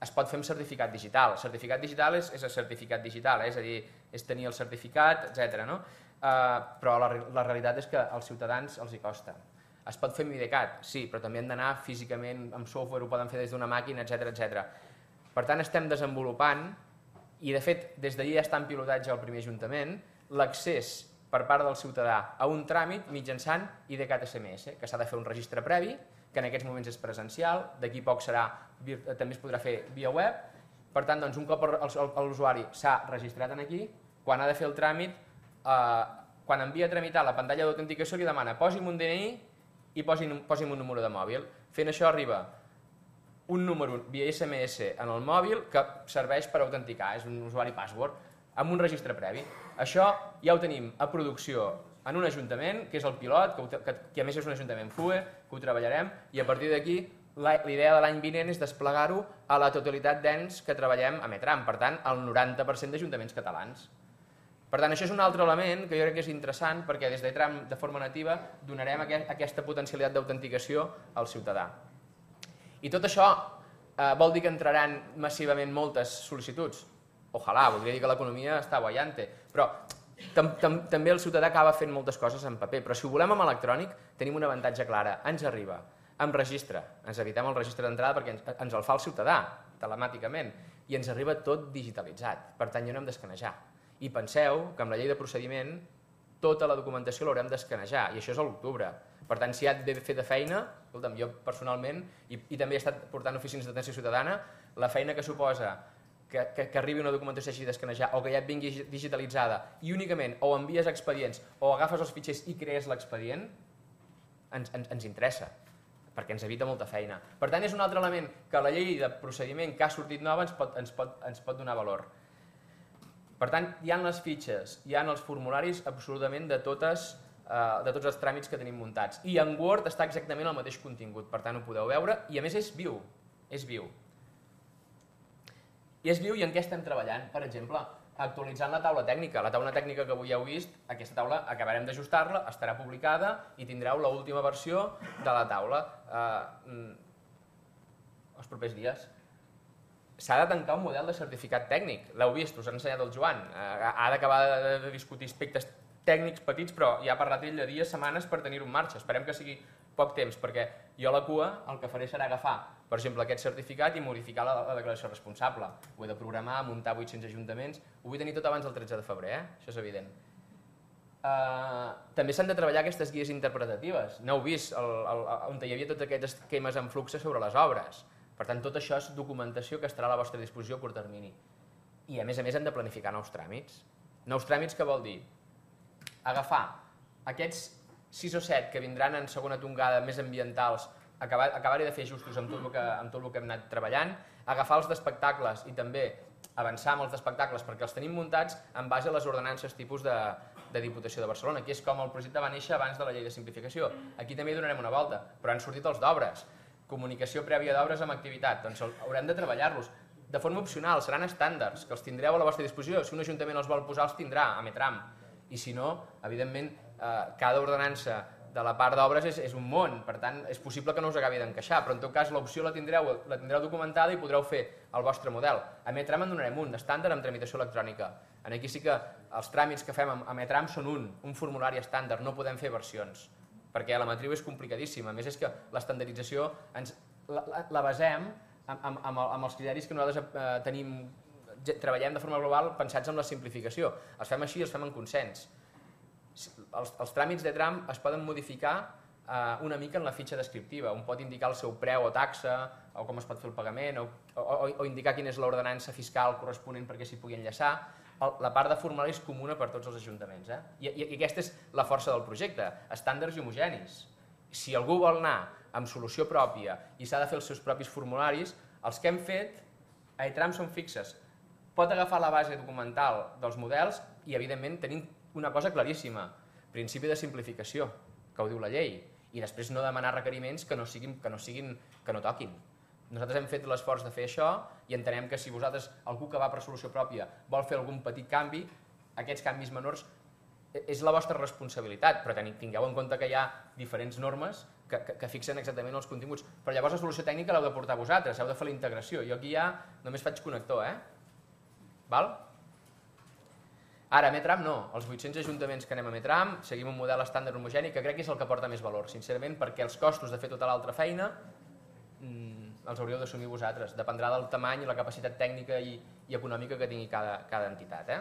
es pot fer amb certificat digital. El certificat digital és, és el certificat digital, eh? És a dir, és tenir el certificat, etcètera. No? Uh, però la, la realitat és que als ciutadans els hi costa. Es pot fer amb IDCAT, sí, però també han d'anar físicament, amb software, ho poden fer des d'una màquina, etcètera, etcètera. Per tant, estem desenvolupant, i de fet, des d'allí ja està en pilotatge al primer ajuntament, l'accés per part del ciutadà a un tràmit mitjançant IDCAT S M S, que s'ha de fer un registre previ, que en aquests moments és presencial, d'aquí poc serà, també es podrà fer via web. Per tant, doncs, un cop l'usuari s'ha registrat aquí, quan ha de fer el tràmit, eh, quan envia a tramitar la pantalla d'autenticació li demana posi'm un D N I i posi'm, posi'm un número de mòbil. Fent això arriba un número via S M S en el mòbil que serveix per autenticar, és un usuari password, amb un registre previ. Això ja ho tenim a producció en un ajuntament, que és el pilot, que, que, que a més és un ajuntament F U E, que ho treballarem, i a partir d'aquí la idea de l'any vinent és desplegar-ho a la totalitat d'ens que treballem a Metram, per tant, al noranta per cent d'ajuntaments catalans. Per tant, això és un altre element que jo crec que és interessant perquè des de Tram, de forma nativa, donarem aquesta potencialitat d'autenticació al ciutadà. I tot això eh, vol dir que entraran massivament moltes sol·licituds. Ojalà, voldria dir que l'economia està boiante, però tam tam també el ciutadà acaba fent moltes coses en paper, però si ho volem amb electrònic tenim un avantatge clar, ens arriba amb registre, ens evitem el registre d'entrada perquè ens, ens el fa el ciutadà, telemàticament, i ens arriba tot digitalitzat, per tant jo no hem d'escanejar. I penseu que amb la llei de procediment tota la documentació l'haurem d'escanejar, i això és a l'octubre. Per tant, si ha de fer de feina, escolta'm, jo personalment, i, i també he estat portant oficines d'atenció ciutadana, la feina que suposa que, que, que arribi una documentació així d'escanejar o que ja et vingui digitalitzada i únicament o envies expedients o agafes els fitxers i crees l'expedient, ens, ens, ens interessa, perquè ens evita molta feina. Per tant, és un altre element que la llei de procediment que ha sortit nova ens pot, ens pot, ens pot donar valor. Per tant, hi ha les fitxes, hi ha els formularis absolutament de, totes, eh, de tots els tràmits que tenim muntats. I en Word està exactament el mateix contingut, per tant ho podeu veure, i a més és viu, és viu. I és viu i en què estem treballant? Per exemple, actualitzant la taula tècnica. La taula tècnica que avui heu vist, aquesta taula acabarem d'ajustar-la, estarà publicada i tindreu l'última versió de la taula eh, els propers dies. S'ha de tancar un model de certificat tècnic, l'heu vist, us ha ensenyat el Joan, ha d'acabar de discutir aspectes tècnics petits, però ja ha parlat ell de dies, setmanes per tenir-ho en marxa. Esperem que sigui poc temps, perquè jo a la cua el que faré serà agafar, per exemple, aquest certificat i modificar la, la declaració responsable. Ho he de programar, muntar vuit-cents ajuntaments, ho vull tenir tot abans del tretze de febrer, eh? Això és evident. Uh, també s'han de treballar aquestes guies interpretatives. No heu vist el, el, on hi havia tots aquests esquemes en flux sobre les obres. Per tant, tot això és documentació que estarà a la vostra disposició a curt termini. I a més a més hem de planificar nous tràmits. Nous tràmits que vol dir agafar aquests sis o set que vindran en segona tongada més ambientals, acabar-hi de fer ajustos amb tot el que, amb tot el que hem anat treballant, agafar els d'espectacles i també avançar amb els d'espectacles perquè els tenim muntats en base a les ordenances tipus de, de Diputació de Barcelona, que és com el projecte va néixer abans de la llei de simplificació. Aquí també hi donarem una volta, però han sortit els d'obres, comunicació prèvia d'obres amb activitat, doncs haurem de treballar-los. De forma opcional, seran estàndards, que els tindreu a la vostra disposició. Si un ajuntament els vol posar, els tindrà a Metram. I si no, evidentment, eh, cada ordenança de la part d'obres és, és un món, per tant, és possible que no us acabi d'encaixar, però en tot cas l'opció la tindreu, la tindreu documentada i podreu fer el vostre model. A Metram en donarem un, d'estàndard amb tramitació electrònica. Aquí sí que els tràmits que fem a Metram són un, un formulari estàndard, no podem fer versions, perquè la matriu és complicadíssima. A més, és que l'estandardització ens, la, la, la basem amb, amb, amb, amb els criteris que nosaltres eh, tenim, treballem de forma global pensats en la simplificació. Els fem així, els fem en consens. Els, els tràmits de tram es poden modificar eh, una mica en la fitxa descriptiva. Un pot indicar el seu preu o taxa, o com es pot fer el pagament, o, o, o indicar quina és l'ordenança fiscal corresponent perquè s'hi pugui enllaçar. El, la part de formulari és comuna per tots els ajuntaments. Eh? I, I aquesta és la força del projecte, estàndards i homogenis. Si algú vol anar amb solució pròpia i s'ha de fer els seus propis formularis, els que hem fet a eTram són fixes. Pot agafar la base documental dels models i, evidentment, tenim una cosa claríssima, principi de simplificació, que ho diu la llei, i després no demanar requeriments que no siguin, que no, siguin, que no toquin. Nosaltres hem fet l'esforç de fer això i entenem que si vosaltres, algú que va per solució pròpia, vol fer algun petit canvi, aquests canvis menors és la vostra responsabilitat, però tingueu en compte que hi ha diferents normes que, que, que fixen exactament els continguts. Però llavors la solució tècnica l'heu de portar vosaltres, heu de fer la integració. Jo aquí ja només faig connector, eh? Val? Ara, a Metram no, els vuit-cents ajuntaments que anem a Metram seguim un model estàndard homogeni que crec que és el que porta més valor, sincerament, perquè els costos de fer tota l'altra feina mmm, els hauríeu d'assumir vosaltres, dependrà del tamany i la capacitat tècnica i, i econòmica que tingui cada, cada entitat. Eh?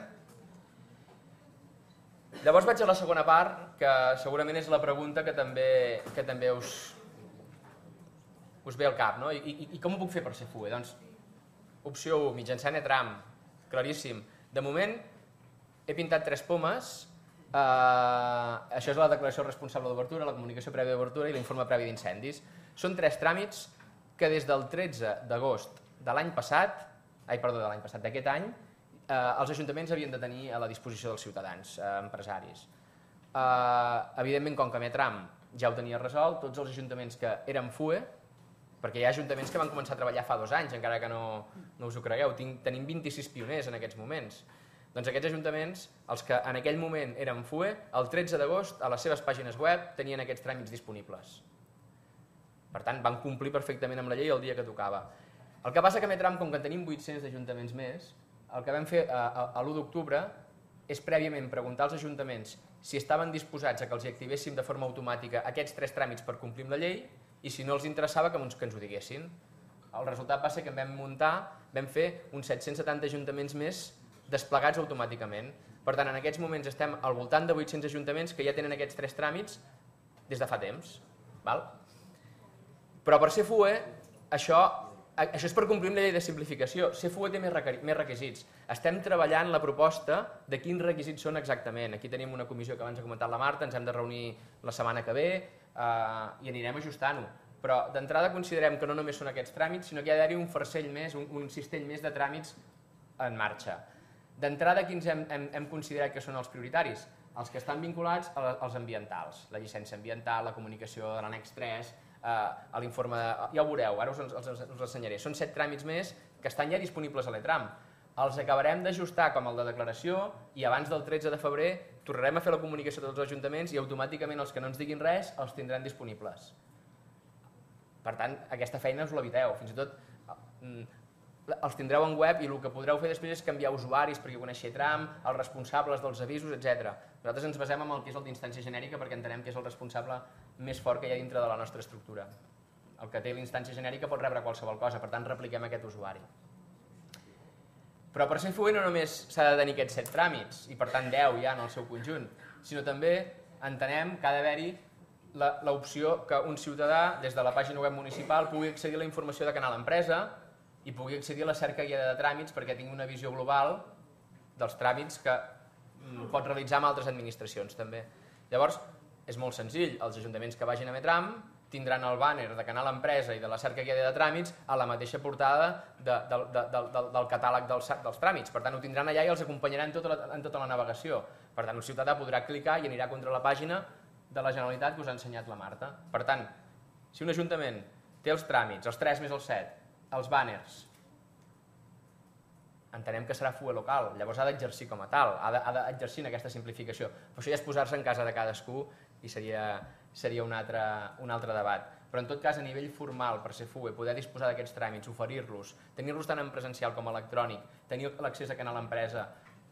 Llavors vaig a la segona part, que segurament és la pregunta que també, que també us, us ve al cap, no? I, i, I com ho puc fer per ser F U E? Doncs, opció u, mitjançant Etram, claríssim. De moment, he pintat tres pomes, eh, això és la declaració responsable d'obertura, la comunicació prèvia d'obertura i l'informe previ d'incendis. Són tres tràmits que des del tretze d'agost de l'any passat, ai, perdó, de l'any passat, d'aquest any, eh, els ajuntaments havien de tenir a la disposició dels ciutadans, eh, empresaris. Eh, evidentment, com que Metram ja ho tenia resolt, tots els ajuntaments que eren F U E, perquè hi ha ajuntaments que van començar a treballar fa dos anys, encara que no, no us ho cregueu, Tinc, tenim vint-i-sis pioners en aquests moments. Doncs aquests ajuntaments, els que en aquell moment eren F U E, el tretze d'agost a les seves pàgines web tenien aquests tràmits disponibles. Per tant, van complir perfectament amb la llei el dia que tocava. El que passa que a Metram, com que en tenim vuit-cents ajuntaments més, el que vam fer a, a, a l'u d'octubre és prèviament preguntar als ajuntaments si estaven disposats a que els activéssim de forma automàtica aquests tres tràmits per complir amb la llei i si no els interessava que ens, que ens ho diguessin. El resultat va ser que vam muntar, vam fer uns set-cents setanta ajuntaments més desplegats automàticament. Per tant, en aquests moments estem al voltant de vuit-cents ajuntaments que ja tenen aquests tres tràmits des de fa temps. Val? Però per ser F U E, això, això és per complir amb la llei de simplificació. Ser F U E té més requisits. Estem treballant la proposta de quins requisits són exactament. Aquí tenim una comissió que abans ha comentat la Marta, ens hem de reunir la setmana que ve eh, i anirem ajustant-ho. Però d'entrada considerem que no només són aquests tràmits, sinó que hi ha d'haver un farcell més, un, un cistell més de tràmits en marxa. D'entrada, quins hem, hem, hem considerat que són els prioritaris? Els que estan vinculats als ambientals, la llicència ambiental, la comunicació de l'annex tres, eh, l'informe de... Ja ho veureu, ara us els, els, els ensenyaré. Són set tràmits més que estan ja disponibles a l'Etram. Els acabarem d'ajustar com el de declaració i abans del tretze de febrer tornarem a fer la comunicació de tots els ajuntaments i automàticament els que no ens diguin res els tindran disponibles. Per tant, aquesta feina us l'eviteu. Fins i tot els tindreu en web i el que podreu fer després és canviar usuaris perquè coneixi Tram, els responsables dels avisos, etcètera. Nosaltres ens basem en el que és el d'instància genèrica perquè entenem que és el responsable més fort que hi ha dintre de la nostra estructura. El que té l'instància genèrica pot rebre qualsevol cosa, per tant repliquem aquest usuari. Però per ser F U E no només s'ha de tenir aquests set tràmits, i per tant deu ja en el seu conjunt, sinó també entenem que ha d'haver-hi l'opció que un ciutadà des de la pàgina web municipal pugui accedir a la informació de Canal Empresa i pugui accedir a la cerca guiada de tràmits perquè tingui una visió global dels tràmits que pot realitzar amb altres administracions també. Llavors, és molt senzill, els ajuntaments que vagin a Metram tindran el bàner de Canal Empresa i de la cerca guiada de tràmits a la mateixa portada de, de, de, de, de, del catàleg dels, dels tràmits. Per tant, ho tindran allà i els acompanyaran en tota, la, en tota la navegació. Per tant, el ciutadà podrà clicar i anirà contra la pàgina de la Generalitat que us ha ensenyat la Marta. Per tant, si un ajuntament té els tràmits, els tres més els set, els bàners, entenem que serà F U E local, llavors ha d'exercir com a tal, ha d'exercir en aquesta simplificació. Però això ja és posar-se en casa de cadascú i seria, seria un, altre, un altre debat. Però en tot cas, a nivell formal, per ser F U E, poder disposar d'aquests tràmits, oferir-los, tenir-los tant en presencial com electrònic, tenir l'accés a Canal Empresa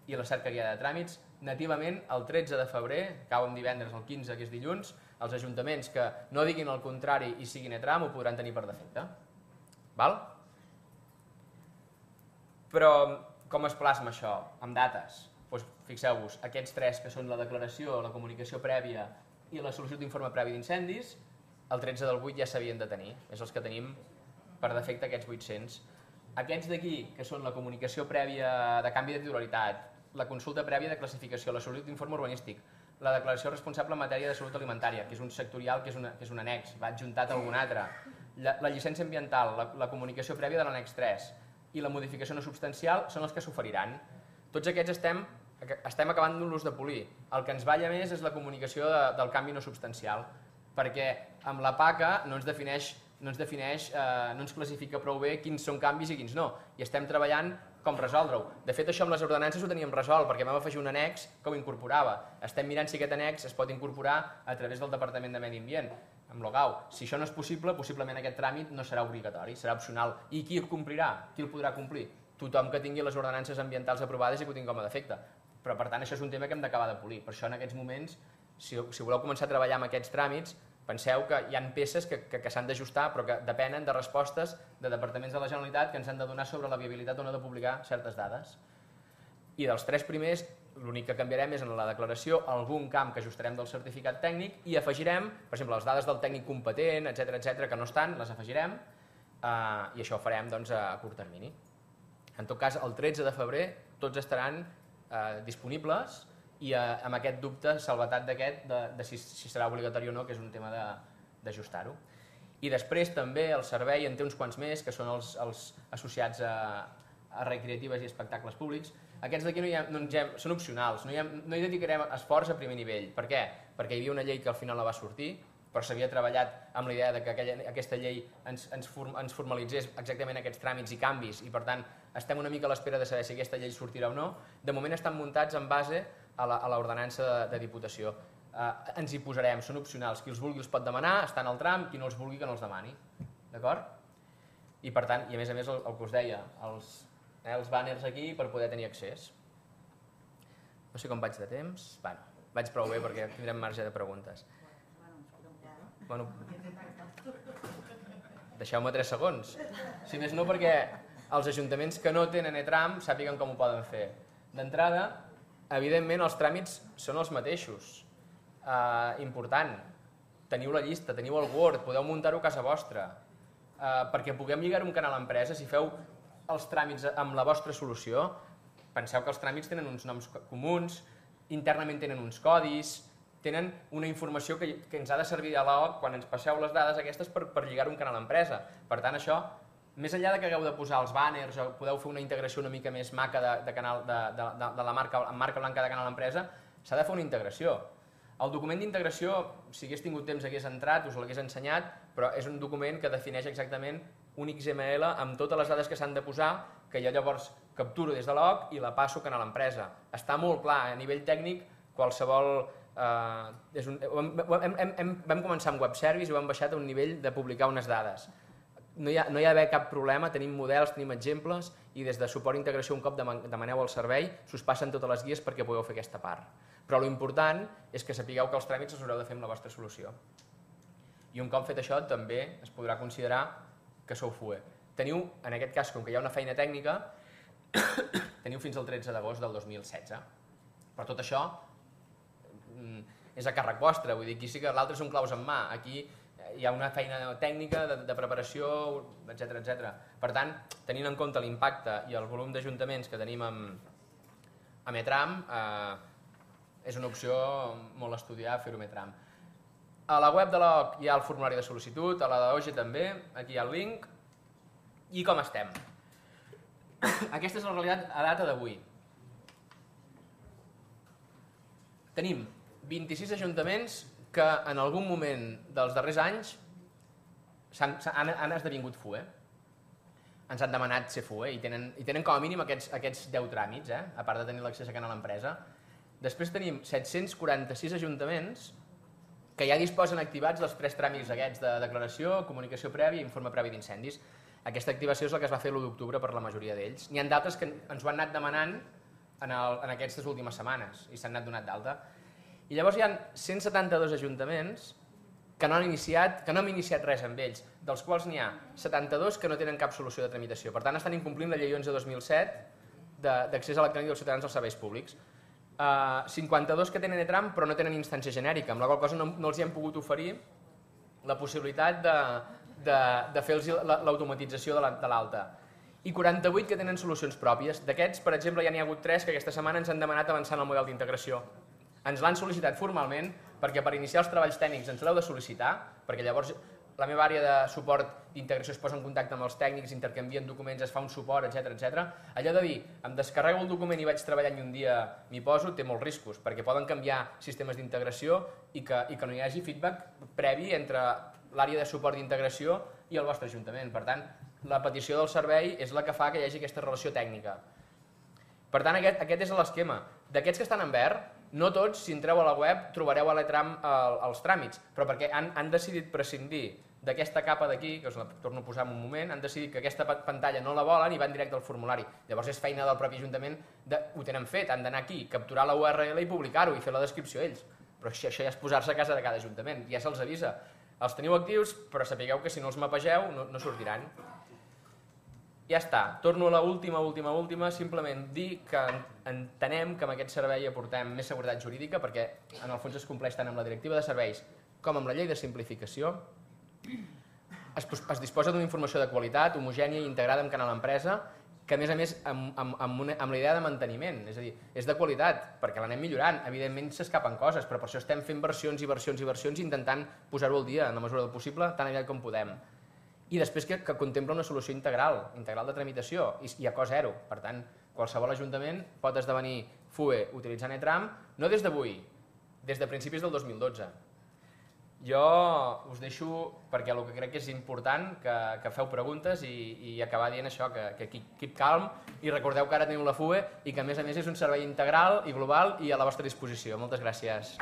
i a la cerca guiada de tràmits, nativament el tretze de febrer, cau en divendres, el quinze, que és dilluns, els ajuntaments que no diguin el contrari i siguin ETRAM ho podran tenir per defecte. Val? Però com es plasma això? Amb dates. Doncs fixeu-vos, aquests tres que són la declaració, la comunicació prèvia i la sol·licitud d'informe previ d'incendis, el tretze del vuit ja s'havien de tenir. És els que tenim per defecte aquests vuit-cents. Aquests d'aquí, que són la comunicació prèvia de canvi de titularitat, la consulta prèvia de classificació, la sol·licitud d'informe urbanístic, la declaració responsable en matèria de salut alimentària, que és un sectorial, que és, una, que és un annex, va adjuntat a algun altre, la, la llicència ambiental, la, la comunicació prèvia de l'annex tres i la modificació no substancial són els que s'oferiran. Tots aquests estem, estem acabant-los de polir. El que ens balla més és la comunicació de, del canvi no substancial, perquè amb la PACA no ens defineix, no ens, defineix eh, no ens classifica prou bé quins són canvis i quins no, i estem treballant com resoldre-ho. De fet, això amb les ordenances ho teníem resolt, perquè vam afegir un annex que ho incorporava. Estem mirant si aquest annex es pot incorporar a través del Departament de Medi Ambient, amb l'OGAU. Si això no és possible, possiblement aquest tràmit no serà obligatori, serà opcional. I qui el complirà? Qui el podrà complir? Tothom que tingui les ordenances ambientals aprovades i que ho tingui com a defecte. Però, per tant, això és un tema que hem d'acabar de polir. Per això, en aquests moments, si, si voleu començar a treballar amb aquests tràmits, penseu que hi ha peces que, que, que s'han d'ajustar, però que depenen de respostes de departaments de la Generalitat que ens han de donar sobre la viabilitat o no de publicar certes dades. I dels tres primers, l'únic que canviarem és en la declaració algun camp que ajustarem del certificat tècnic i afegirem, per exemple, les dades del tècnic competent, etcètera, etcètera, que no estan, les afegirem eh, i això ho farem doncs, a curt termini. En tot cas, el tretze de febrer tots estaran eh, disponibles i eh, amb aquest dubte, salvetat d'aquest, de, de si, si serà obligatori o no, que és un tema d'ajustar-ho. I després també el servei en té uns quants més, que són els, els associats a, a recreatives i espectacles públics. Aquests d'aquí no hi ha, no hem, són opcionals, no hi, ha, no hi dedicarem esforç a primer nivell. Per què? Perquè hi havia una llei que al final no va sortir, però s'havia treballat amb la idea de que aquella, aquesta llei ens, ens, form, ens formalitzés exactament aquests tràmits i canvis i per tant estem una mica a l'espera de saber si aquesta llei sortirà o no. De moment estan muntats en base a l'ordenança de, de Diputació. Eh, ens hi posarem, són opcionals. Qui els vulgui els pot demanar, està en el tram, qui no els vulgui que no els demani. D'acord? I per tant, i a més a més el, el que us deia, els, eh, els bàners aquí per poder tenir accés. No sé com vaig de temps. Bueno, vaig prou bé perquè tindrem marge de preguntes. Bueno, deixeu-me tres segons. Si més no perquè els ajuntaments que no tenen ETRAM sàpiguen com ho poden fer. D'entrada, evidentment els tràmits són els mateixos. Uh, important, teniu la llista, teniu el Word, podeu muntar-ho a casa vostra. Uh, perquè puguem lligar un canal empresa, si feu els tràmits amb la vostra solució, penseu que els tràmits tenen uns noms comuns, internament tenen uns codis, tenen una informació que, que ens ha de servir a l'O C quan ens passeu les dades aquestes per, per lligar un canal empresa. Per tant, això, més enllà de que hagueu de posar els bàners o podeu fer una integració una mica més maca de, de, canal, de, de, de, de la marca, marca blanca de canal empresa, s'ha de fer una integració. El document d'integració, si hagués tingut temps hagués entrat, us l'hagués ensenyat, però és un document que defineix exactament un X M L amb totes les dades que s'han de posar, que jo llavors capturo des de l'O C i la passo a canal empresa. Està molt clar, a nivell tècnic, qualsevol... Uh, és un, hem, hem, hem, vam començar amb web service i ho hem baixat a un nivell de publicar unes dades. No hi ha, no hi ha d'haver cap problema, tenim models, tenim exemples i des de suport i integració un cop demaneu el servei s'us passen totes les guies perquè pugueu fer aquesta part. Però l'important és que sapigueu que els tràmits els haureu de fer amb la vostra solució. I un cop fet això també es podrà considerar que sou F U E. Teniu, en aquest cas, com que hi ha una feina tècnica, teniu fins al tretze d'agost del dos mil setze. Per tot això, és a càrrec vostre, vull dir, aquí sí que l'altre són claus en mà, aquí hi ha una feina tècnica de, de preparació, etcètera, etcètera. Per tant, tenint en compte l'impacte i el volum d'ajuntaments que tenim amb, amb ETRAM, eh, és una opció molt estudiar fer-ho amb ETRAM. A la web de l'O C hi ha el formulari de sol·licitud, a la d'O G E també, aquí hi ha el link. I com estem? Aquesta és la realitat a data d'avui. Tenim vint-i-sis ajuntaments que en algun moment dels darrers anys han, han, han esdevingut F U E. Ens han demanat ser F U E i tenen, i tenen com a mínim aquests, aquests deu tràmits, eh? A part de tenir l'accés a Canal Empresa. Després tenim set-cents quaranta-sis ajuntaments que ja disposen activats dels tres tràmits aquests de declaració, comunicació prèvia i informe previ d'incendis. Aquesta activació és la que es va fer l'u d'octubre per la majoria d'ells. N'hi ha d'altres que ens ho han anat demanant en, el, en aquestes últimes setmanes i s'han anat donat d'alta. I llavors hi ha cent setanta-dos ajuntaments que no han iniciat, que no hem iniciat res amb ells, dels quals n'hi ha setanta-dos que no tenen cap solució de tramitació. Per tant, estan incomplint la llei onze dos mil set d'accés electrònic dels ciutadans als serveis públics. Uh, cinquanta-dos que tenen E-Tram però no tenen instància genèrica, amb la qual cosa no, no els hi hem pogut oferir la possibilitat de, de, de fer l'automatització de l'alta. I quaranta-vuit que tenen solucions pròpies. D'aquests, per exemple, ja n'hi ha hagut tres que aquesta setmana ens han demanat avançar en el model d'integració. Ens l'han sol·licitat formalment perquè per iniciar els treballs tècnics ens l'heu de sol·licitar, perquè llavors la meva àrea de suport d'integració es posa en contacte amb els tècnics, intercanvien documents, es fa un suport, etcètera, etcètera. Allò de dir, em descarrego el document i vaig treballant i un dia m'hi poso, té molts riscos, perquè poden canviar sistemes d'integració i, que, i que no hi hagi feedback previ entre l'àrea de suport d'integració i el vostre ajuntament. Per tant, la petició del servei és la que fa que hi hagi aquesta relació tècnica. Per tant, aquest, aquest és l'esquema. D'aquests que estan en verd, no tots, si entreu a la web, trobareu a l'E-Tram els tràmits, però perquè han, han decidit prescindir d'aquesta capa d'aquí, que us la torno a posar en un moment, han decidit que aquesta pantalla no la volen i van directe al formulari. Llavors és feina del propi ajuntament, de, ho tenen fet, han d'anar aquí, capturar la U R L i publicar-ho i fer la descripció ells. Però això, això ja és posar-se a casa de cada ajuntament, ja se'ls avisa. Els teniu actius, però sapigueu que si no els mapegeu no, no sortiran. Ja està, torno a l'última, última, última, simplement dir que entenem que amb aquest servei aportem més seguretat jurídica perquè en el fons es compleix tant amb la directiva de serveis com amb la llei de simplificació. Es, es disposa d'una informació de qualitat, homogènia i integrada amb Canal Empresa, que a més a més amb, amb, amb, una, amb la idea de manteniment, és a dir, és de qualitat, perquè l'anem millorant, evidentment s'escapen coses, però per això estem fent versions i versions i versions intentant posar-ho al dia en la mesura del possible, tan aviat com podem. I després que, que contempla una solució integral, integral de tramitació, i, i a cost zero. Per tant, qualsevol ajuntament pot esdevenir F U E utilitzant E-Tram, no des d'avui, des de principis del dos mil dotze. Jo us deixo, perquè el que crec que és important, que, que feu preguntes i, i acabar dient això, que, que keep calm, i recordeu que ara teniu la F U E i que a més a més és un servei integral i global i a la vostra disposició. Moltes gràcies.